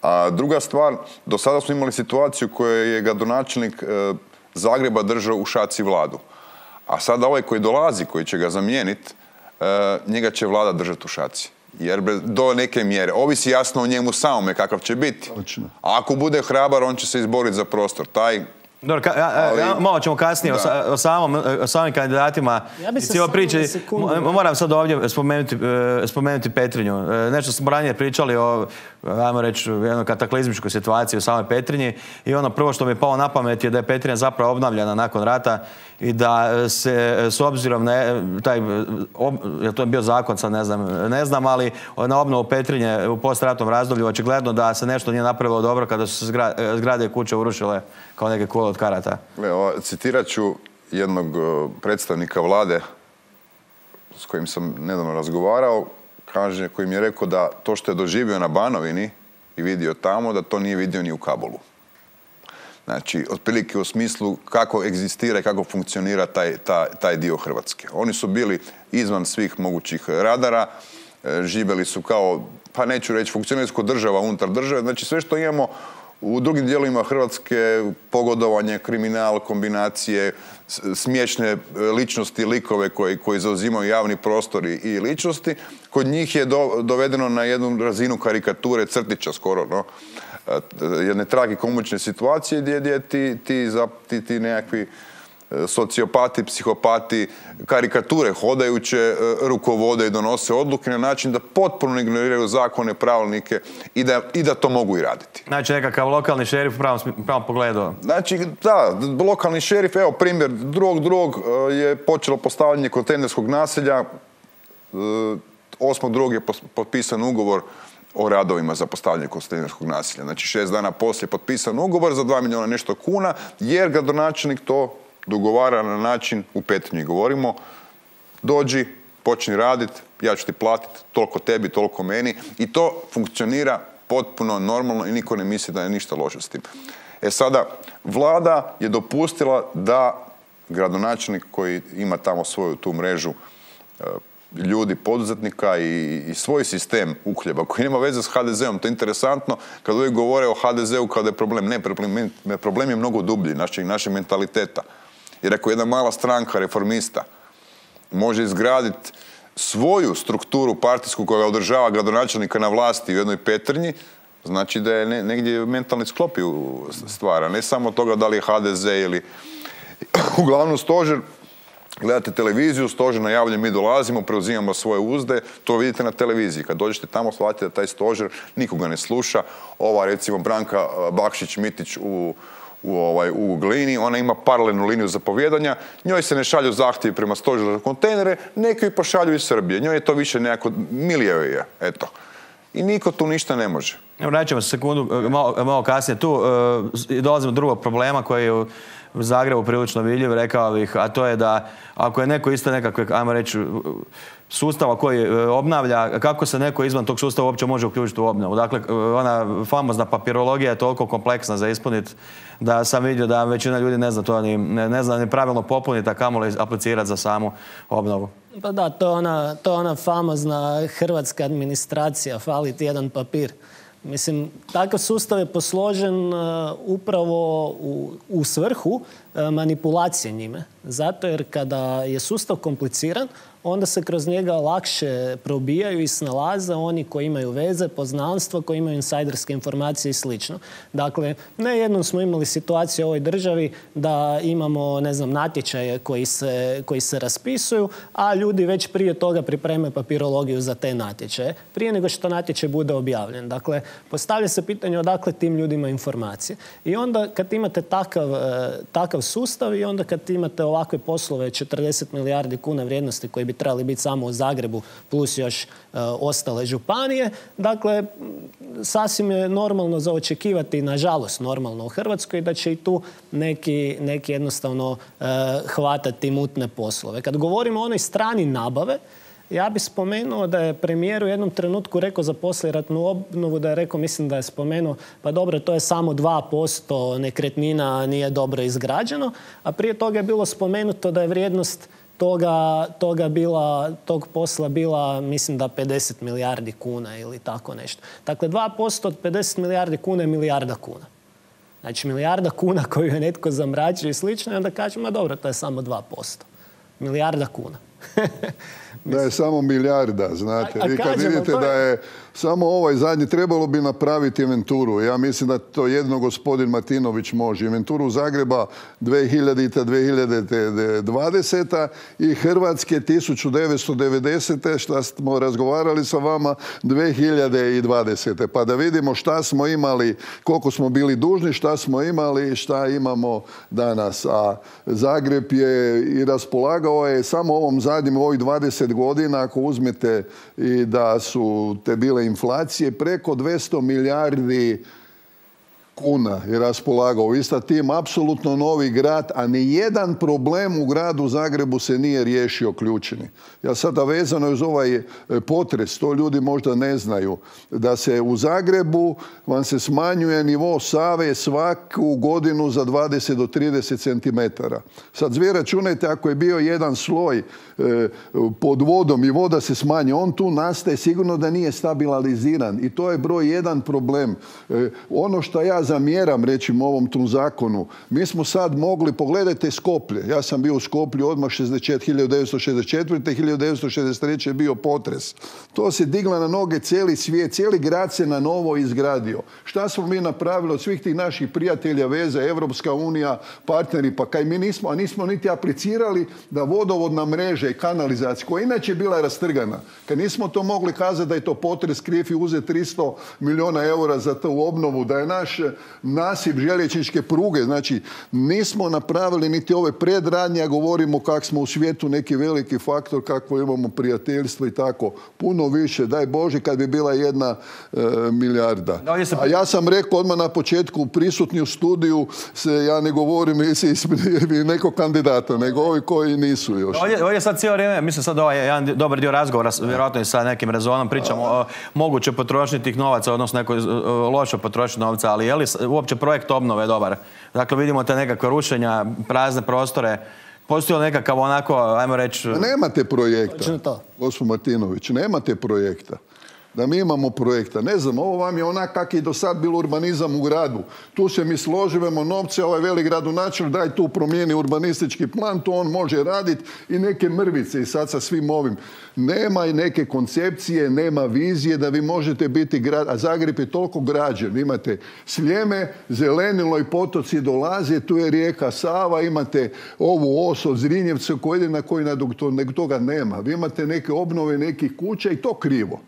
A druga stvar, do sada smo imali situaciju koju je gradonačelnik e, Zagreba držao u šaci vladu. A sada ovaj koji dolazi, koji će ga zamijeniti, e, njega će vlada držati u šaci. Jer do neke mjere. Ovisi jasno o njemu samome kakav će biti. Točno. A ako bude hrabar, on će se izboriti za prostor. Taj Dobro, ka, a, Ali- a, malo ćemo kasnije o, Da. sa- o, samom, o samim kandidatima. Ja bi i se cijeloj samo priči. na sekundu- Mo- Moram sad ovdje spomenuti, e, spomenuti Petrinju. E, Nešto smo ranije pričali o, ajmo reći, jednoj kataklizmičkoj situaciji u samoj Petrinji i ono prvo što mi je palo na pamet je da je Petrinja zapravo obnavljana nakon rata i da se s obzirom na e, taj, ob, je to je bio zakon, sad ne znam, ne znam, ali na obnovu Petrinje u postratnom razdoblju očigledno da se nešto nije napravilo dobro kada su se zgra- zgrade i kuće urušile kao neke kule od karata. Evo, citirat ću jednog uh, predstavnika vlade s kojim sam nedavno razgovarao, kaže, koji mi je rekao da to što je doživio na Banovini i vidio tamo, da to nije vidio ni u Kabulu. Znači, otprilike u smislu kako egzistira i kako funkcionira taj, taj, taj dio Hrvatske. Oni su bili izvan svih mogućih radara, e, živjeli su kao, pa neću reći, funkcionirsko država unutar države. Znači, sve što imamo u drugim dijelovima Hrvatske, pogodovanje, kriminal, kombinacije, s- smiješne e, ličnosti, likove koji, koji zauzimaju javni prostor i, i ličnosti, kod njih je do- dovedeno na jednu razinu karikature, crtića skoro, no? E, jedne tragikomične situacije gdje, gdje ti, ti, za- ti, ti nekakvi e, sociopati, psihopati, karikature hodajuće e, rukovode i donose odluke na način da potpuno ignoriraju zakone, pravilnike i da, i da to mogu i raditi. Znači nekakav lokalni šerif u pravom, smi- pravom pogledu. Znači, da, lokalni šerif, evo primjer, drugog drugog e, je počelo postavljanje kontejnerskog naselja, e, osmog drugog je pos- potpisan ugovor o radovima za postavljanje kontejnerskog naselja. Znači, šest dana poslije je potpisan ugovor za dva milijuna nešto kuna, jer gradonačelnik to dogovara na način, u Petrinji govorimo, dođi, počni raditi, ja ću ti platiti, toliko tebi, toliko meni, i to funkcionira potpuno normalno i niko ne misli da je ništa loše s tim. E sada, vlada je dopustila da gradonačelnik koji ima tamo svoju tu mrežu e, ljudi, poduzetnika i, i svoj sistem uhljeba koji nema veze s ha de zeom. To je interesantno kad uvijek govore o ha de zeu kao da je problem. Ne, problem, problem je mnogo dublji našeg, našeg mentaliteta. Jer ako jedna mala stranka reformista može izgraditi svoju strukturu partijsku koja održava gradonačelnika na vlasti u jednoj Petrinji, znači da je ne, negdje mentalni sklop ju stvara. Ne samo toga da li je ha de ze ili... Uglavnom stožer, gledate televiziju, stožer najavlja mi dolazimo, preuzimamo svoje uzde, to vidite na televiziji. Kad dođete tamo, shvatite da taj stožer nikoga ne sluša. Ova, recimo, Branka Bakšić-Mitić u u, ovaj, u Glini, ona ima paralelnu liniju zapovjedanja, njoj se ne šalju zahtjevi prema stožeru za kontejnere, neki ju pošalju iz Srbije. Njoj je to više nekako, milije je, eto. I niko tu ništa ne može. Evo, vraćamo se sekundu, malo, malo kasnije tu, e, dolazimo do drugog problema koji je u Zagrebu prilično vidljiv, rekao bih, a to je da ako je neko isto nekakve, ajmo reći, sustava koji e, obnavlja, kako se neko izvan tog sustava uopće može uključiti u obnovu. Dakle, e, ona famozna papirologija je toliko kompleksna za ispuniti da sam vidio da većina ljudi ne zna to ni, ne, ne zna ni pravilno popuniti, a kamoli aplicirati za samu obnovu. Pa da, to je ona, to je ona famozna hrvatska administracija, fali ti jedan papir. Mislim, takav sustav je posložen uh, upravo u, u svrhu uh, manipulacije njime. Zato jer kada je sustav kompliciran, onda se kroz njega lakše probijaju i snalaze oni koji imaju veze, poznanstva, koji imaju insajderske informacije i slično. Dakle, ne jednom smo imali situaciju u ovoj državi da imamo, ne znam, natječaje koji se, koji se raspisuju, a ljudi već prije toga pripreme papirologiju za te natječaje, prije nego što natječaj bude objavljen. Dakle, postavlja se pitanje odakle tim ljudima informacije. I onda kad imate takav, takav sustav i onda kad imate ovakve poslove četrdeset milijardi kuna vrijednosti koji bi trebali biti samo u Zagrebu plus još uh, ostale županije. Dakle, sasvim je normalno za očekivati, nažalost normalno u Hrvatskoj, da će i tu neki, neki jednostavno uh, hvatati mutne poslove. Kad govorimo o onoj strani nabave, Ja bih spomenuo da je premijer u jednom trenutku rekao za poslijeratnu obnovu, da je rekao, mislim da je spomenuo, pa dobro, to je samo dva posto nekretnina nije dobro izgrađeno, a prije toga je bilo spomenuto da je vrijednost toga, toga bila, tog posla bila, mislim da pedeset milijardi kuna ili tako nešto. Dakle, dva posto od pedeset milijardi kuna je milijarda kuna. Znači, milijarda kuna koju je netko zamračio i slično, i onda kažemo, dobro, to je samo dva posto. Milijarda kuna. Da je samo milijarda, znate. A, a Vi kad kažemo, vidite je... da je samo ovaj zadnji, trebalo bi napraviti inventuru. Ja mislim da to jedno gospodin Martinović može. Inventuru Zagreba dvije hiljadite. dvije hiljade dvadesete. i Hrvatske tisuću devetsto devedesete. što smo razgovarali sa vama dvije hiljade dvadesete. Pa da vidimo šta smo imali, koliko smo bili dužni, šta smo imali i šta imamo danas. A Zagreb je i raspolagao je samo ovom zadnjim, ovih dvadeset godina, ako uzmete i da su te bile inflacije, preko dvjesto milijardi kuna je raspolagao. Isto tim apsolutno novi grad, a ni jedan problem u gradu Zagrebu se nije riješio ključni. Ja sada vezano uz ovaj potres, to ljudi možda ne znaju, da se u Zagrebu vam se smanjuje nivo Save svaku godinu za dvadeset do trideset centimetara. Sad vi računajte, ako je bio jedan sloj e, pod vodom i voda se smanji, on tu nastaje, sigurno da nije stabiliziran i to je broj jedan problem. E, ono što ja zamjeram, rećim, ovom tom zakonu, mi smo sad mogli, pogledajte Skoplje, ja sam bio u Skoplju odmah hiljadu devetsto šezdeset četvrte. hiljadu devetsto šezdeset treće je bio potres. To se digla na noge cijeli svijet, cijeli grad se na novo izgradio. Šta smo mi napravili od svih tih naših prijatelja, veze, Evropska unija, partneri, pa kaj mi nismo, a nismo niti aplicirali da vodovodna mreža i kanalizacija, koja inače bila rastrgana, kad nismo to mogli kazati da je to potres kriv i uzeti tristo milijuna eura za tu obnovu, da je naš nasip željezničke pruge, znači nismo napravili niti ove predradnje, a govorimo kako smo u svijetu neki veliki faktor, kako imamo prijateljstvo i tako. Puno više, daj Bože, kad bi bila jedna e, milijarda. A ja sam rekao odmah na početku, prisutni u studiju, se, ja ne govorim nekog kandidata, nego ovi koji nisu još. Ovdje, ovdje sad cijelo vrijeme, mislim sad ovaj jedan dobar dio razgovora, vjerojatno i sa nekim rezonom, pričamo o moguće potrošnji tih novaca, odnosno nekoj lošoj potrošnji novca, ali je li uopće projekt obnove dobar? Dakle, vidimo te nekakve rušenja, prazne prostore. Postoji li nekakav onako, ajmo reći... Nemate projekta, gospodin Martinović, nemate projekta. Da mi imamo projekta. Ne znam, ovo vam je onak kak je do sad bilo urbanizam u gradu. Tu se mi složivamo novce, ovaj veli gradonačelnik, daj tu promijeni urbanistički plan, to on može raditi i neke mrvice i sad sa svim ovim. Nema i neke koncepcije, nema vizije da vi možete biti grad, a Zagreb je toliko građen. Imate Sljeme, zelenilo i potoci dolaze, tu je rijeka Sava, imate ovu os od Zrinjevca koji ide na koji nego toga nema. Vi imate neke obnove nekih kuća i to krivo.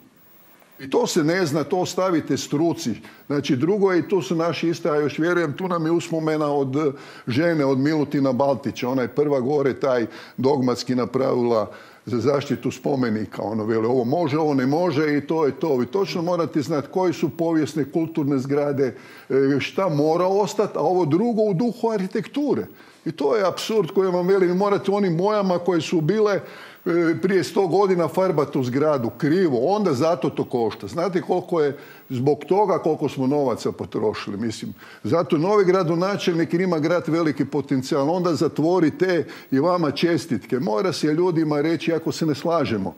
I to se ne zna, to ostavite struci. Znači, drugo je, i tu su naši isto, ja još vjerujem, tu nam je uspomena od žene, od Milutina Baltića. Ona je prva gore taj dogmatski napravila za zaštitu spomenika. Ono veli, ovo može, ovo ne može i to je to. Vi točno morate znati koje su povijesne, kulturne zgrade, šta mora ostati, a ovo drugo u duhu arhitekture. I to je apsurd koji vam veli, vi morate onim bojama koje su bile prije sto godina farbati u zgradu krivo, onda zato to košta. Znate koliko je zbog toga koliko smo novaca potrošili, mislim. Zato novi gradonačelnik ima grad veliki potencijal, onda zatvorite i vama čestitke. Mora se ljudima reći, ako se ne slažemo,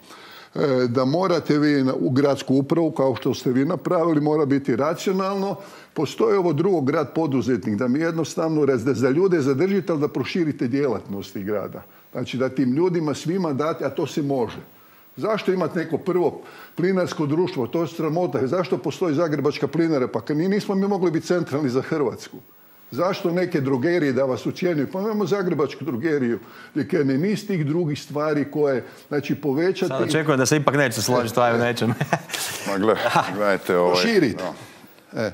da morate vi u gradsku upravu, kao što ste vi napravili, mora biti racionalno. Postoji ovo drugo, grad poduzetnik, da mi jednostavno da za ljude zadržite, ali da proširite djelatnosti grada. Znači da tim ljudima svima date, a to se može. Zašto imati neko prvo plinarsko društvo? To je sramota. Zašto postoji Zagrebačka plinara? Pa kad nismo mi mogli biti centralni za Hrvatsku. Zašto neke drogerije da vas ucijenjuju? Pa imamo Zagrebačku drogeriju, gdje ne niz tih drugih stvari koje, znači, povećati... Sad očekujem da se ipak neće složiti stvari u nečem. Ma gle, gledajte ovaj... Poširiti. No. E.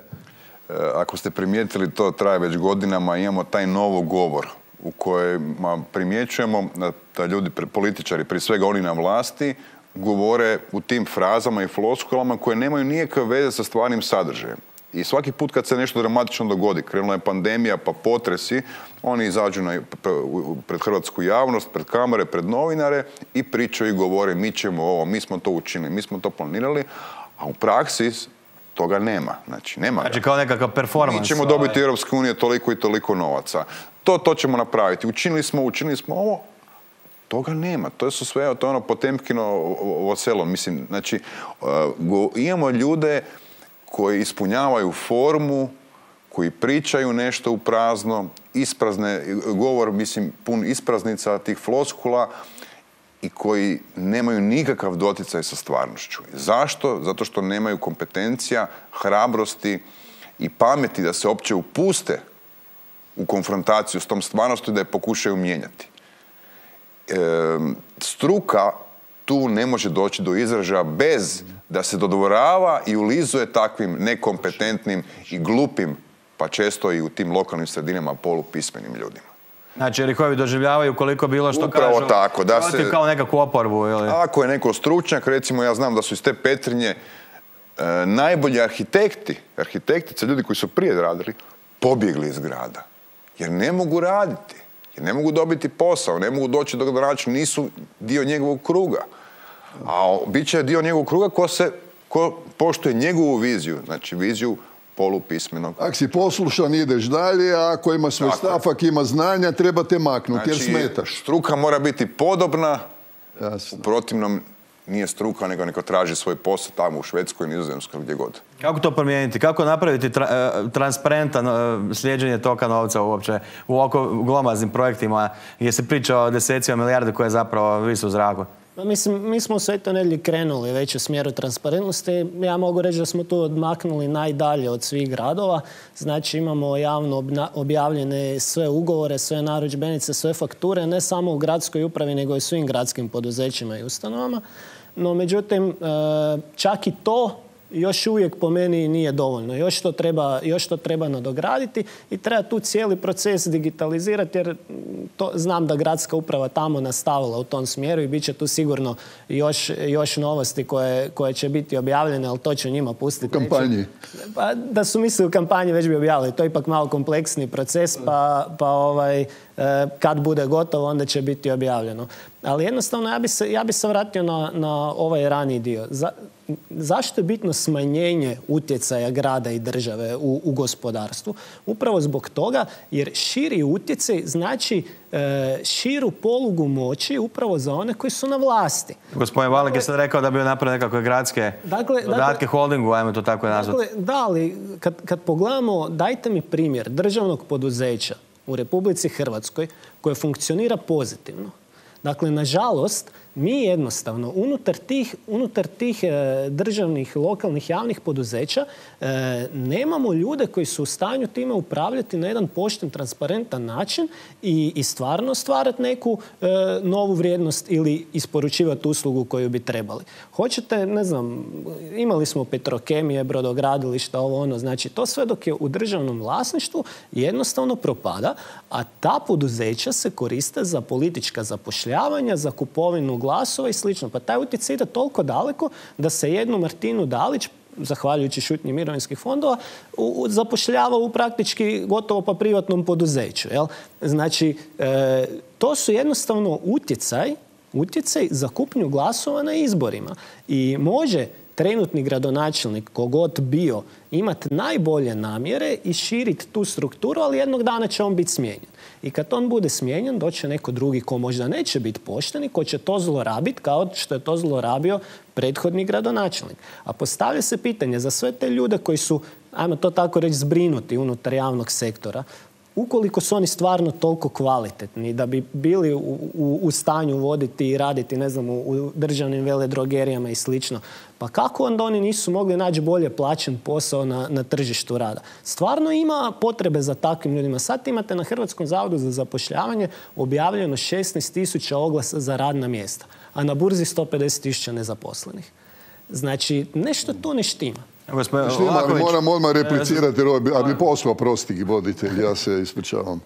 Ako ste primijetili, to traje već godinama, imamo taj novo govor u kojima primjećujemo da ljudi, političari, prije svega oni na vlasti, govore u tim frazama i floskulama koje nemaju nikakve veze sa stvarnim sadržajem. I svaki put kad se nešto dramatično dogodi, krenula je pandemija pa potresi, oni izađu na, pred hrvatsku javnost, pred kamere, pred novinare i pričaju i govore mi ćemo ovo, mi smo to učinili, mi smo to planirali, a u praksi toga nema. Znači, nema Znači kao nekakav performans. Mi ćemo dobiti u Europskoj uniji toliko i toliko novaca. To, to ćemo napraviti. Učinili smo, učinili smo ovo. Toga nema. To su sve, to je ono Potemkino ovo selo. Mislim, znači, uh, imamo ljude koji ispunjavaju formu, koji pričaju nešto u prazno, isprazne, govor, mislim, pun ispraznica tih floskula i koji nemaju nikakav doticaj sa stvarnošću. Zašto? Zato što nemaju kompetencija, hrabrosti i pameti da se uopće upuste u konfrontaciju s tom stvarnošću da je pokušaju mijenjati. E, struka tu ne može doći do izražaja bez da se dodvorava i ulizuje takvim nekompetentnim i glupim, pa često i u tim lokalnim sredinama polupismenim ljudima. Znači, jer ih ovi doživljavaju koliko bilo što Upravo kažu. tako, da se, kao nekakvu oporbu, ili? Ako je neko stručnjak, recimo ja znam da su iz te Petrinje e, najbolji arhitekti, arhitektice, ljudi koji su prije radili, pobjegli iz grada. Jer ne mogu raditi, jer ne mogu dobiti posao, ne mogu doći do gradonačelnika, nisu dio njegovog kruga. A bit će dio njegovog kruga ko se, ko poštuje njegovu viziju, znači viziju polupismenog. Ako si poslušan, ideš dalje, a ako ima svoj stav, ako ima znanja, treba te maknuti, jer Znači, smetaš. struka mora biti podobna, Jasno. u protivnom nije struka, nego neko traži svoj posao tamo u Švedskoj, Nizozemskoj, gdje god. Kako to promijeniti? Kako napraviti tra- transparentan uh, slijeđenje toka novca uopće u oko glomaznim projektima gdje se priča o desecima milijarde koje zapravo visu u zraku? Pa mislim, mi smo u Svetoj Nedjelji krenuli već u smjeru transparentnosti. Ja mogu reći da smo tu odmaknuli najdalje od svih gradova. Znači imamo javno obna- objavljene sve ugovore, sve narudžbenice, sve fakture, ne samo u gradskoj upravi, nego i svim gradskim poduzećima i ustanovama. No, međutim, e, čak i to još uvijek po meni nije dovoljno. Još to treba, još to treba nadograditi i treba tu cijeli proces digitalizirati jer to, znam da gradska uprava tamo nastavila u tom smjeru i bit će tu sigurno još, još novosti koje, koje će biti objavljene, ali to ću njima pustiti. U kampanji. Pa, da su mislili u kampanji već bi objavili. To je ipak malo kompleksni proces, pa, pa ovaj, kad bude gotovo, onda će biti objavljeno. Ali jednostavno, ja bi se, ja bi se vratio na, na ovaj raniji dio. Za, zašto je bitno smanjenje utjecaja grada i države u, u gospodarstvu? Upravo zbog toga, jer širi utjecaj znači e, širu polugu moći upravo za one koji su na vlasti. Gospodin Valek je sad rekao da bi napravio nekakve gradske dakle, dodatke dakle, holdingu, ajmo to tako nazvati. Dakle, da, ali kad, kad pogledamo, dajte mi primjer državnog poduzeća u Republici Hrvatskoj koje funkcionira pozitivno. Dakle, nažalost, mi jednostavno unutar tih, unutar tih e, državnih, lokalnih, javnih poduzeća e, nemamo ljude koji su u stanju time upravljati na jedan pošten, transparentan način i, i stvarno stvarati neku e, novu vrijednost ili isporučivati uslugu koju bi trebali. Hoćete, ne znam, imali smo Petrokemije, brodogradilišta, ovo ono, znači to sve dok je u državnom vlasništvu jednostavno propada, a ta poduzeća se koriste za politička zapošljavanja, za kupovinu glasova i slično. Pa taj utjecaj ide toliko daleko da se jednu Martinu Dalić, zahvaljujući šutnji mirovinskih fondova, u, u, zapošljava u praktički gotovo pa privatnom poduzeću. Jel? Znači, e, to su jednostavno utjecaj, utjecaj za kupnju glasova na izborima. I može trenutni gradonačelnik, kogod bio, imati najbolje namjere i širiti tu strukturu, ali jednog dana će on biti smijenjen. I kad on bude smijenjen, doće neko drugi ko možda neće biti pošten i ko će to zlorabiti kao što je to zlorabio prethodni gradonačelnik. A postavlja se pitanje za sve te ljude koji su, ajmo to tako reći, zbrinuti unutar javnog sektora, ukoliko su oni stvarno toliko kvalitetni da bi bili u, u, u stanju voditi i raditi, ne znam, u, u državnim veledrogerijama i slično, pa kako onda oni nisu mogli naći bolje plaćen posao na, na tržištu rada? Stvarno ima potrebe za takvim ljudima. Sad imate na Hrvatskom zavodu za zapošljavanje objavljeno šesnaest tisuća oglasa za radna mjesta, a na burzi sto pedeset tisuća nezaposlenih. Znači, nešto tu ne štima. Moram odmah replicirati, ali mi posao prosti voditelj, ja se ispričavam.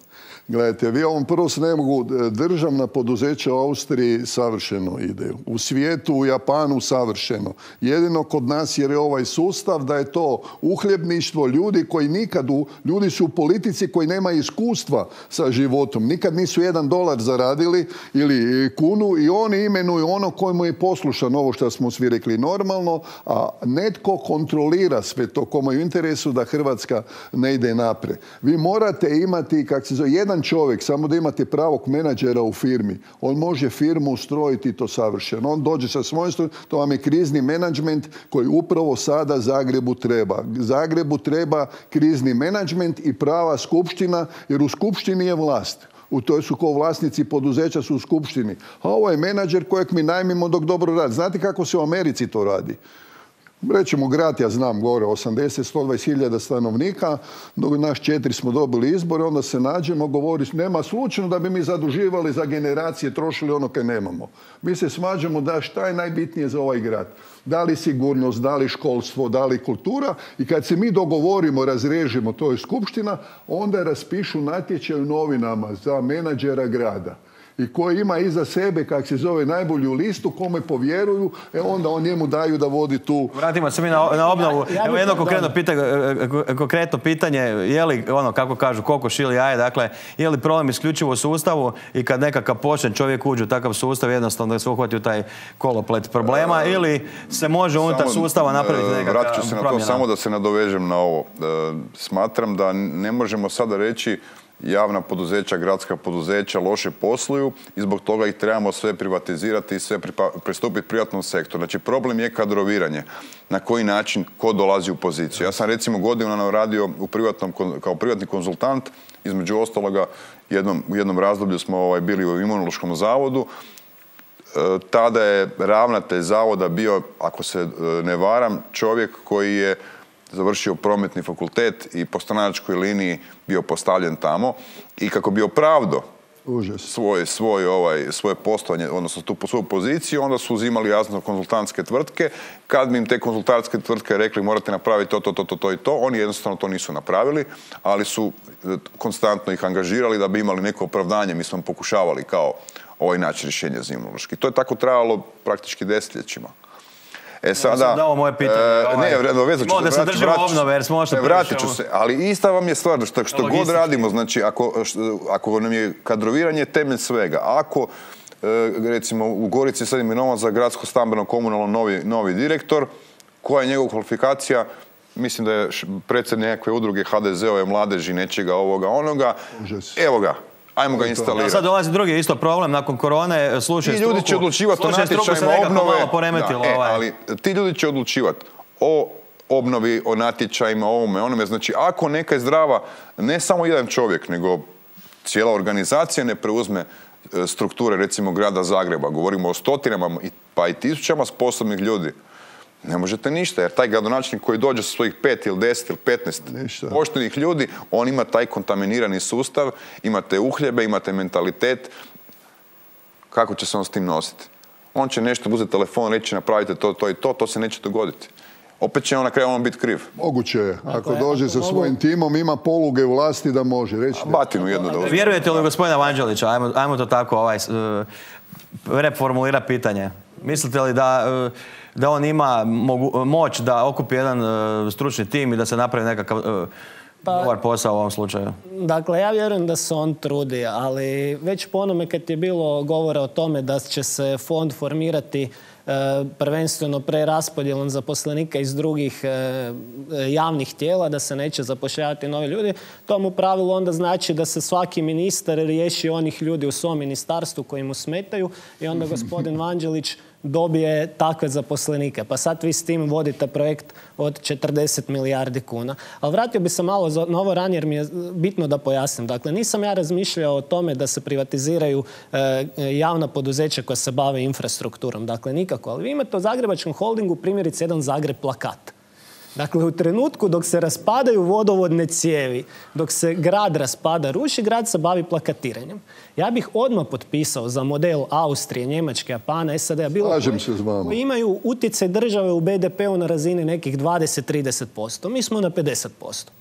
Gledajte, vi ovom prvo se ne mogu, državna poduzeća u Austriji savršeno ide. U svijetu, u Japanu savršeno. Jedino kod nas jer je ovaj sustav da je to uhljebništvo ljudi koji nikad, u, ljudi su u politici koji nema iskustva sa životom. Nikad nisu jedan dolar zaradili ili kunu i oni imenuju ono kojemu je poslušan ovo što smo svi rekli normalno, a netko kontrolira sve to komu je u interesu da Hrvatska ne ide naprijed. Vi morate imati, kak se zove, jedan čovjek, samo da imate pravog menadžera u firmi, on može firmu ustrojiti to savršeno. On dođe sa svojim strojom, to vam je krizni menadžment koji upravo sada Zagrebu treba. Zagrebu treba krizni menadžment i prava skupština, jer u skupštini je vlast. U toj su ko vlasnici poduzeća su u skupštini. A ovo je menadžer kojeg mi najmimo dok dobro radi. Znate kako se u Americi to radi? Rećemo grad, ja znam, gore osamdeset do sto dvadeset hiljada stanovnika, dok naš četiri smo dobili izbore, onda se nađemo, govori, nema slučajno da bi mi zaduživali za generacije, trošili ono kaj nemamo. Mi se svađamo da šta je najbitnije za ovaj grad. Da li sigurnost, da li školstvo, da li kultura, i kad se mi dogovorimo, razrežimo, to je skupština, onda raspišu natječaj u novinama za menadžera grada. I koji ima iza sebe, kak se zove, najbolju listu, kome povjeruju, e onda on njemu daju da vodi tu... Vratimo se mi na, na obnovu. Ja, ja Evo jedno konkretno pitanje, konkretno pitanje, je li, ono, kako kažu, kokoš ili jaje, dakle, je li problem isključivo u sustavu i kad nekakav počne čovjek uđe u takav sustav, jednostavno da se uhvati u taj koloplet problema, e, ili se može unutar sustava napraviti nekakav promjena? Vratit ću se na to, samo da se nadovežem na ovo. E, smatram da ne možemo sada reći javna poduzeća, gradska poduzeća loše posluju i zbog toga ih trebamo sve privatizirati i sve pristupiti privatnom sektoru. Znači, problem je kadroviranje. Na koji način, ko dolazi u poziciju. Ja sam recimo godinama radio u privatnom, kao privatni konzultant, između ostaloga jednom, u jednom razdoblju smo ovaj, bili u Imunološkom zavodu. E, tada je ravnatelj zavoda bio, ako se ne varam, čovjek koji je završio prometni fakultet i po stranačkoj liniji bio postavljen tamo i kako bi opravdao svoje, svoje, ovaj, svoje postojanje, odnosno tu svoju poziciju, onda su uzimali jasno konzultantske tvrtke. Kad bi im te konzultantske tvrtke rekli morate napraviti to, to, to, to, to i to, oni jednostavno to nisu napravili, ali su konstantno ih angažirali da bi imali neko opravdanje. Mi smo pokušavali kao ovaj način rješenja za Imunološki. To je tako trajalo praktički desetljećima. E sada, da, ovo moje pitanje. E, ne, ovaj, vezat ću se, se držimo obnove, jer smo ošto vratit ću se, ali ista vam je stvar, što, što god radimo, znači, ako, što, ako nam je kadroviranje temelj svega, ako, e, recimo, u Gorici sad imenovan za gradsko stambeno komunalno novi, novi direktor, koja je njegova kvalifikacija, mislim da je predsjednik nekakve udruge ha de ze ove mladeži, nečega ovoga, onoga, evo ga. Ajmo ga instalirati. Sad dolazi drugi isto problem, nakon korone, slušaj struku. Ti ljudi će odlučivati o natječajima obnove. Da, e, ali ti ljudi će odlučivati o obnovi, o natječajima, o ovome, onome. Znači, ako neka je zdrava, ne samo jedan čovjek, nego cijela organizacija ne preuzme strukture, recimo, grada Zagreba. Govorimo o stotinama, pa i tisućama sposobnih ljudi. Ne možete ništa, jer taj gradonačelnik koji dođe sa svojih pet ili deset ili petnaest poštenih ljudi, on ima taj kontaminirani sustav, imate uhljebe, imate mentalitet. Kako će se on s tim nositi? On će nešto uzeti telefon, reći napravite to, to i to, to se neće dogoditi. Opet će on na kraju on biti kriv. Moguće je. Ako dođe sa svojim timom, ima poluge vlasti da može reći. Batinu jednu da uzme. Vjerujete li gospodina Vanđelića? Ajmo, ajmo to tako ovaj, reformulira pitanje. Mislite li da, da on ima mogu, moć da okupi jedan uh, stručni tim i da se napravi nekakav uh, pa, dobar posao u ovom slučaju? Dakle, ja vjerujem da se on trudi, ali već po onome kad je bilo govora o tome da će se fond formirati uh, prvenstveno preraspodjelom zaposlenika iz drugih uh, javnih tijela, da se neće zapošljavati novi ljudi, to mu u pravilu onda znači da se svaki ministar riješi onih ljudi u svom ministarstvu koji mu smetaju i onda gospodin Vanđelić dobije takve zaposlenike. Pa sad vi s tim vodite projekt od četrdeset milijardi kuna. Ali vratio bi se malo na ovo ranije jer mi je bitno da pojasnim. Dakle, nisam ja razmišljao o tome da se privatiziraju e, javna poduzeća koja se bave infrastrukturom. Dakle, nikako. Ali vi imate u Zagrebačkom holdingu primjerice jedan Zagreb plakat. Dakle, u trenutku dok se raspadaju vodovodne cijevi, dok se grad raspada, ruši, grad se bavi plakatiranjem. Ja bih odmah potpisao za model Austrije, Njemačke, Japana, S A D-a, bilo koji, koji imaju utjecaj države u be de pe-u na razini nekih dvadeset do trideset posto. Mi smo na pedeset posto.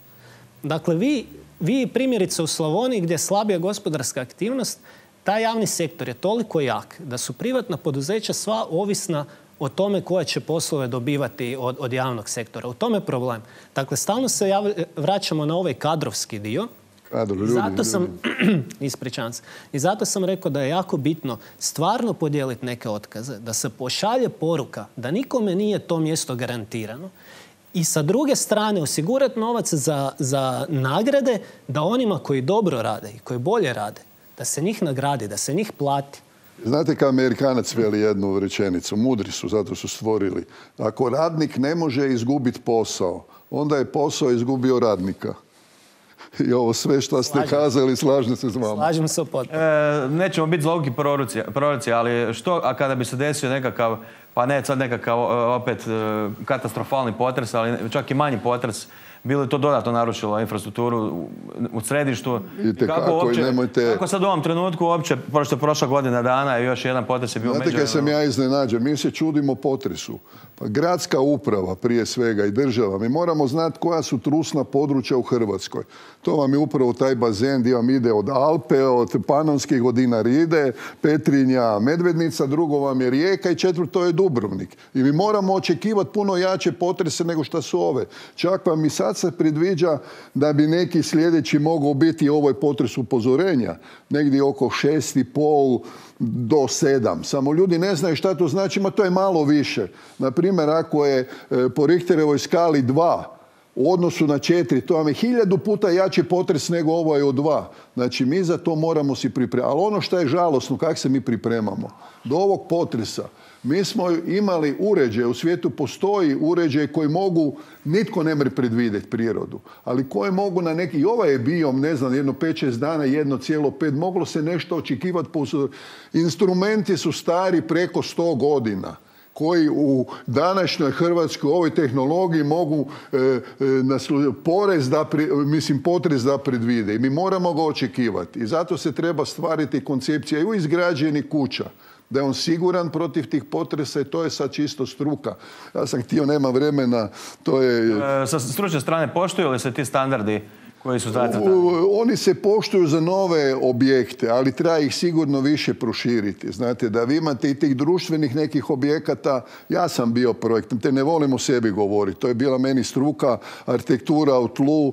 Dakle, vi, vi primjerice u Slavoniji gdje je slabija gospodarska aktivnost, taj javni sektor je toliko jak da su privatna poduzeća sva ovisna o tome koje će poslove dobivati od, od javnog sektora. U tome je problem. Dakle, stalno se jav, vraćamo na ovaj kadrovski dio. Kadro, ljudi, I zato sam, ispričavam se, i zato sam rekao da je jako bitno stvarno podijeliti neke otkaze, da se pošalje poruka da nikome nije to mjesto garantirano. I sa druge strane osigurati novac za, za nagrade da onima koji dobro rade i koji bolje rade, da se njih nagradi, da se njih plati. Znate kao Amerikanac veli jednu rečenicu, mudri su, zato su stvorili. Ako radnik ne može izgubiti posao, onda je posao izgubio radnika. I ovo sve što ste Slažem. kazali, slažem se s vama. Slažem se opet. E, nećemo biti zlouki proroci, proroci, ali što, a kada bi se desio nekakav, pa ne sad nekakav opet katastrofalni potres, ali čak i manji potres, bilo je to dodatno narušilo infrastrukturu u središtu. Kako, kako, uopće, nemojte... kako sad u ovom trenutku uopće, pošto je prošla godina dana i još jedan potres je bio među... Znate kaj sam ja iznenađen, mi se čudimo potresu. Pa gradska uprava prije svega i država, mi moramo znati koja su trusna područja u Hrvatskoj. To vam je upravo taj bazen gdje vam ide od Alpe, od Panonskih, od Dinaride, Petrinja, Medvednica, drugo vam je Rijeka i četvrto je Dubrovnik. I mi moramo očekivati puno jače potrese nego što su ove. Čak vam i sad se predviđa da bi neki sljedeći mogao biti ovoj potres upozorenja. Negdje oko šest i pol do sedam. Samo ljudi ne znaju šta to znači, ma to je malo više. Naprimjer, ako je po Richterovoj skali dva u odnosu na četiri, to vam je hiljadu puta jači potres nego ovo je od dva. Znači, mi za to moramo si pripremati. Ali ono što je žalosno, kako se mi pripremamo? Do ovog potresa mi smo imali uređaje, u svijetu postoji uređaje koji mogu, nitko ne može predvidjeti prirodu, ali koje mogu na neki, i ovaj je bio, ne znam, jedno pet šest dana, jedno cijelo pet, moglo se nešto očekivati. Instrumenti su stari preko sto godina, koji u današnjoj Hrvatskoj ovoj tehnologiji mogu e, e, naslu, porez da, pri, mislim, potres da predvide. I mi moramo ga očekivati. I zato se treba stvariti koncepcija i u izgrađenih kuća, da je on siguran protiv tih potresa i to je sad čisto struka. Ja sam htio, nema vremena, to je... E, sa stručne strane, poštuju li se ti standardi koji su zacrtani? Oni se poštuju za nove objekte, ali treba ih sigurno više proširiti. Znate, da vi imate i tih društvenih nekih objekata, ja sam bio projekt, te ne volim o sebi govoriti, to je bila meni struka, arhitektura u tlu,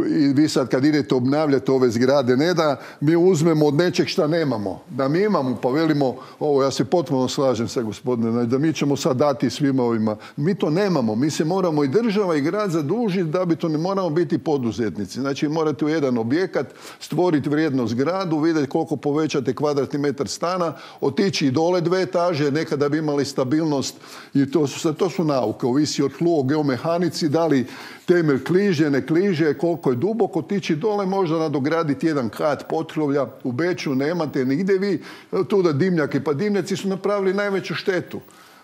i vi sad kad idete obnavljati ove zgrade, ne da mi uzmemo od nečeg šta nemamo, da mi imamo, pa velimo, ovo ja se potpuno slažem sa gospodinom, da mi ćemo sad dati svima ovima. Mi to nemamo, mi se moramo i država i grad zadužiti da bi to ne moramo biti poduzetnici. Znači, morate u jedan objekat stvoriti vrijednost gradu, vidjeti koliko povećate kvadratni metar stana, otići i dole dve etaže, nekada bi imali stabilnost i to su, to su nauke, ovisi od tlu, o geomehanici, da li temelj kliže, ne kliže, koliko je duboko, otići dole, možda nadograditi jedan kat potkrovlja, u Beču nemate nigdje vi, tu da dimnjaki, pa dimnjaci su napravili najveću štetu.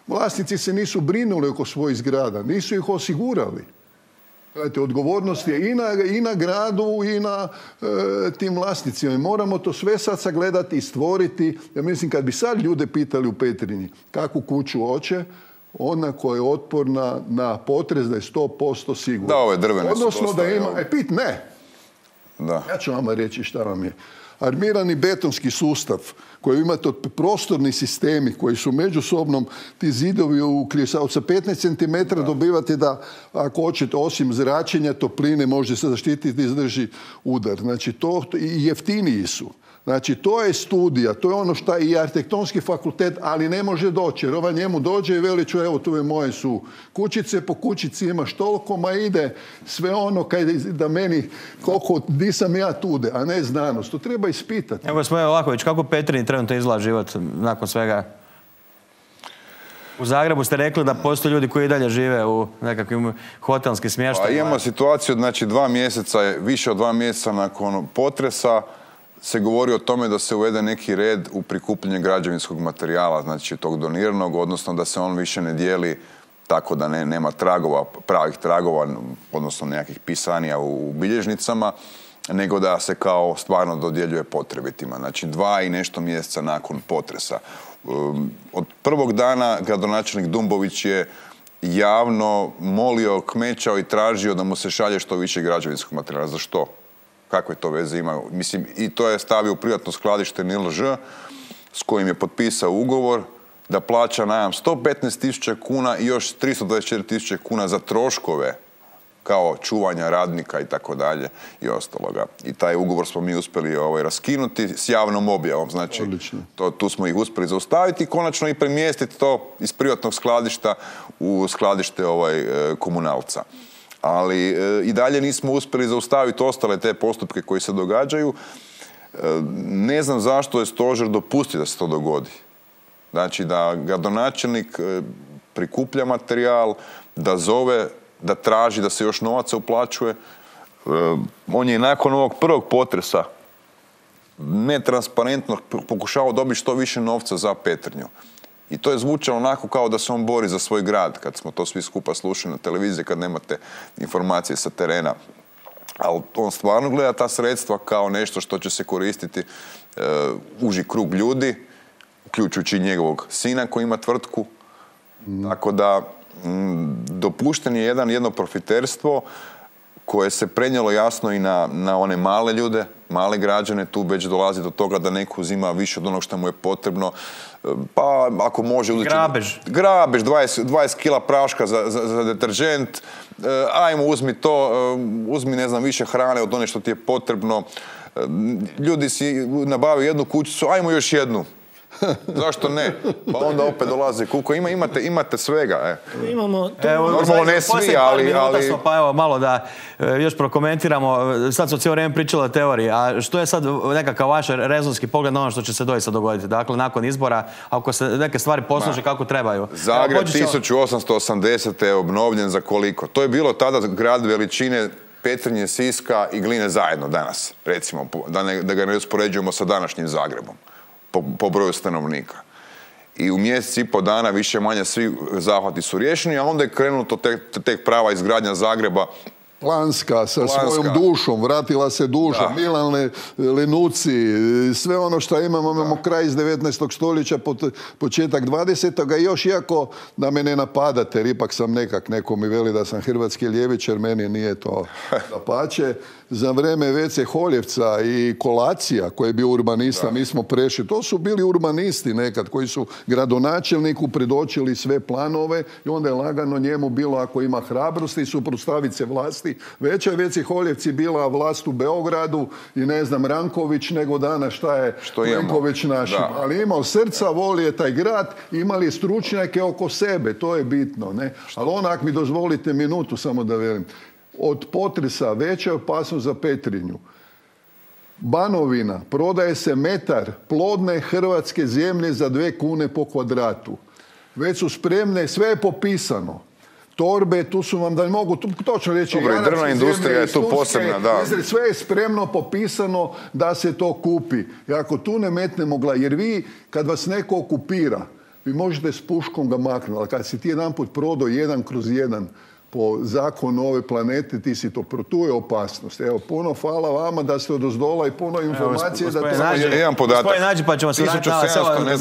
Vlasnici se nisu brinuli oko svojih zgrada, nisu ih osigurali. Gledajte, odgovornost je i na, i na gradu i na e, tim vlasnicima. I moramo to sve sad sagledati i stvoriti. Ja mislim, kad bi sad ljude pitali u Petrinji kakvu kuću hoće, ona koja je otporna na potres, da je sto posto sigurna. Da, ove drvene su Odnosno da ima... E, pit, ne. Da. Ja ću vama reći šta vam je. Armirani betonski sustav koji imate od prostorni sistemi koji su međusobnom, ti zidovi u kljesao sa petnaest centimetara dobivate da, ako hoćete, osim zračenja, topline, može se zaštititi i izdrži udar. Znači, to i jeftiniji su. Znači, to je studija, to je ono što je i arhitektonski fakultet, ali ne može doći. Jer ova njemu dođe i veli ću, evo, tu je moje su kućice, po kućici imaš toliko, ma ide sve ono kaj da meni, koliko, di sam ja tude, a ne znanost. To treba ispitati. Evo, gospodine Vlahović, kako Petrinji trenutno izgleda život nakon svega? U Zagrebu ste rekli da postoje ljudi koji i dalje žive u nekakvim hotelskim smještajima. Pa imamo situaciju, znači dva mjeseca, više od dva mjeseca nakon potresa, se govori o tome da se uvede neki red u prikupljenje građevinskog materijala, znači tog doniranog, odnosno da se on više ne dijeli tako da ne, nema tragova, pravih tragova, odnosno nekakvih pisanija u bilježnicama, nego da se kao stvarno dodjeljuje potrebitima. Znači dva i nešto mjeseca nakon potresa. Od prvog dana gradonačelnik Dumbović je javno molio, kmećao i tražio da mu se šalje što više građevinskog materijala. Za što? Kakve to veze ima? Mislim, i to je stavio u privatno skladište N I L Ž s kojim je potpisao ugovor da plaća najam sto petnaest tisuća kuna i još tristo dvadeset četiri tisuće kuna za troškove kao čuvanja radnika i tako dalje i ostaloga. I taj ugovor smo mi uspjeli ovaj, raskinuti s javnom objavom. Znači, to, tu smo ih uspjeli zaustaviti i konačno i premjestiti to iz privatnog skladišta u skladište ovaj, komunalca. Ali e, i dalje nismo uspjeli zaustaviti ostale te postupke koji se događaju. E, ne znam zašto je stožer dopustio da se to dogodi. Znači da gradonačelnik e, prikuplja materijal, da zove, da traži da se još novaca uplaćuje. E, on je nakon ovog prvog potresa netransparentno pokušao dobiti što više novca za Petrinju. I to je zvučalo onako kao da se on bori za svoj grad, kad smo to svi skupa slušali na televiziji, kad nemate informacije sa terena. Ali on stvarno gleda ta sredstva kao nešto što će se koristiti e, uži krug ljudi, uključujući njegovog sina koji ima tvrtku. Mm. Tako da m, dopušten je jedan, jedno profiterstvo koje se prenijelo jasno i na, na one male ljude, male građane. Tu već dolazi do toga da neko uzima više od onog što mu je potrebno. Pa ako može uzeti... Grabež. Grabež, dvadeset, dvadeset kila praška za, za, za deteržent. E, ajmo, uzmi to, uzmi, ne znam, više hrane od one što ti je potrebno. E, ljudi si nabavio jednu kućicu, ajmo još jednu. Zašto ne? Pa onda opet dolazi kuko. Ima, imate, imate svega. E. Imamo to... Evo, normalno ne svi, ali... ali... Smo, pa evo, malo da e, još prokomentiramo. Sad smo cijelo vrijeme pričali o teoriji. A što je sad nekakav vaš rezonski pogled na ono što će se doista dogoditi? Dakle, nakon izbora, ako se neke stvari posluže kako trebaju. Zagreb tisuću osamsto osamdesete je obnovljen za koliko? To je bilo tada grad veličine Petrinje, Siska i Gline zajedno danas, recimo, da, ne, da ga ne uspoređujemo sa današnjim Zagrebom. Po, po broju stanovnika. I u mjesec i po dana više manje svi zahvati su riješeni, a onda je krenuto tek, tek prava izgradnja Zagreba. Planska, sa Planska. svojom dušom, vratila se duša, Da. Milan Lenuci, sve ono što imamo, imamo kraj iz devetnaestog stoljeća, početak dvadesetog i još iako da me ne napadate, jer ipak sam nekak, neko mi veli da sam hrvatski ljevičar, meni nije to dapače. Za vreme Vece Holjevca i Kolacija, koji je bio urbanista, mi smo prešli. To su bili urbanisti nekad, koji su gradonačelniku predočili sve planove i onda je lagano njemu bilo, ako ima hrabrosti, suprotstaviti se vlasti. Veća je Veci Holjevci bila vlast u Beogradu i ne znam, Ranković, nego danas šta je Plenković našim. Ali imao srca, volio taj grad, imali stručnjake oko sebe, to je bitno. Ne? Ali onak mi dozvolite minutu, samo da velim. Od potresa veća opasnost za Petrinju. Banovina, prodaje se metar plodne hrvatske zemlje za dve kune po kvadratu. Već su spremne, sve je popisano. Torbe, tu su vam, da mogu tu, točno reći... Dobre, drvna industrija je tu posebna, da. Sve je spremno, popisano da se to kupi. I ako tu ne metnemo glavu, jer vi, kad vas neko okupira, vi možete s puškom ga maknuti, ali kad si ti jedan put prodao jedan kroz jedan po zakonu ove planete, ti si to, tu je opasnost. Evo, puno hvala vama da ste odozdola i puno informacije. Evo, da to nađi, jedan podatak. Gospodin Nađi, pa ćemo se vratiti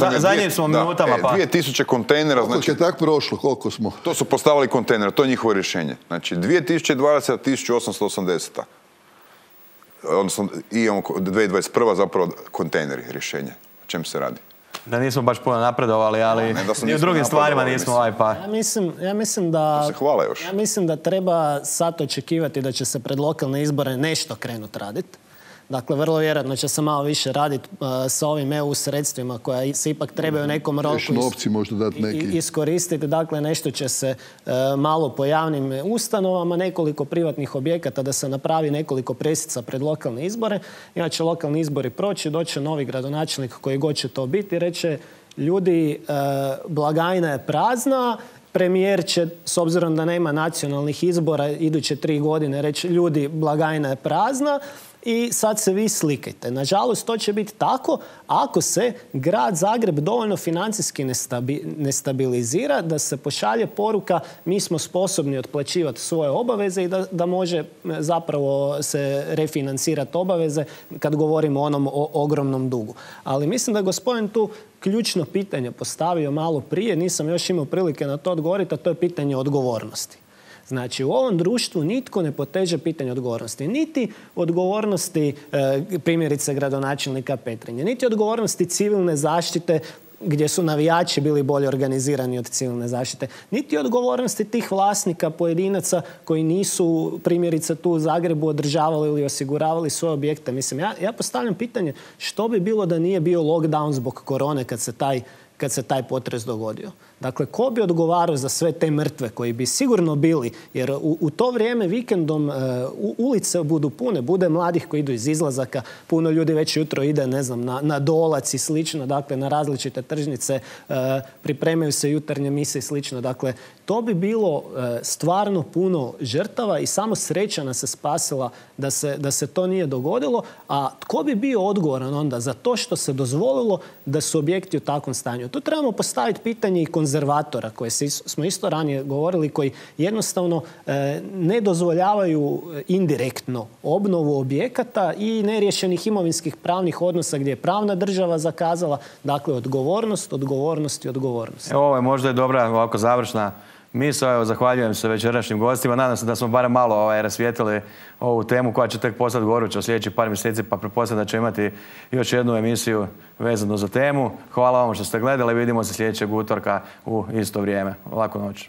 na zadnjim smo minutama. Pa. dvije tisuće kontejnera. Koliko znači, je tak prošlo, koliko smo? To su postavili kontejnera, to je njihovo rješenje. Znači, dvije tisuće dvadeseta tisuću osamsto osamdeset. Odnosno, imamo dvije tisuće dvadeset prva zapravo kontejneri rješenje. O čem se radi? Da nismo baš puno napredovali, ali ne, i u drugim stvarima nismo ovaj pa... Ja mislim, ja mislim da... To se hvala još. Ja mislim da treba sad očekivati da će se pred lokalne izbore nešto krenuti raditi. Dakle, vrlo vjerojatno će se malo više raditi uh, sa ovim E U sredstvima koja se ipak trebaju u nekom roku novci možda dati neki. iskoristiti. Dakle, nešto će se uh, malo po javnim ustanovama, nekoliko privatnih objekata da se napravi nekoliko presica pred lokalne izbore. Inače, lokalni izbori proći, doće novi gradonačelnik koji god će to biti, reće ljudi, uh, blagajna je prazna, premijer će, s obzirom da nema nacionalnih izbora, iduće tri godine reći ljudi, blagajna je prazna, i sad se vi slikajte. Nažalost, to će biti tako ako se grad Zagreb dovoljno financijski ne stabilizira, da se pošalje poruka mi smo sposobni otplaćivati svoje obaveze i da, da može zapravo se refinancirati obaveze kad govorimo o onom o ogromnom dugu. Ali mislim da je gospodin tu ključno pitanje postavio malo prije, nisam još imao prilike na to odgovoriti, a to je pitanje odgovornosti. Znači, u ovom društvu nitko ne poteže pitanje odgovornosti. Niti odgovornosti e, primjerice gradonačelnika Petrinje, niti odgovornosti civilne zaštite gdje su navijači bili bolje organizirani od civilne zaštite, niti odgovornosti tih vlasnika pojedinaca koji nisu primjerice tu u Zagrebu održavali ili osiguravali svoje objekte. Mislim, ja, ja postavljam pitanje što bi bilo da nije bio lockdown zbog korone kad se taj kad se taj potres dogodio. Dakle, ko bi odgovarao za sve te mrtve koji bi sigurno bili, jer u, u to vrijeme vikendom uh, ulice budu pune, bude mladih koji idu iz izlazaka, puno ljudi već jutro ide, ne znam, na, na Dolac i slično, dakle, na različite tržnice, uh, pripremaju se jutarnje mise i slično. Dakle, to bi bilo uh, stvarno puno žrtava i samo sreća nas se spasila da se, da se to nije dogodilo, a tko bi bio odgovoran onda za to što se dozvolilo da su objekti u takvom stanju? Tu trebamo postaviti pitanje i konzervatora, koje smo isto ranije govorili, koji jednostavno e, ne dozvoljavaju indirektno obnovu objekata i neriješenih imovinskih pravnih odnosa gdje je pravna država zakazala. Dakle, odgovornost, odgovornost i odgovornost. Evo, ovo je možda i dobra ovako završna misao. Evo, zahvaljujem se večerašnjim gostima. Nadam se da smo barem malo ovaj, rasvijetili ovu temu koja će tek postati goruća u sljedećih par mjeseci, pa pretpostavljam da će imati još jednu emisiju vezanu za temu. Hvala vam što ste gledali. Vidimo se sljedećeg utorka u isto vrijeme. Laku noć.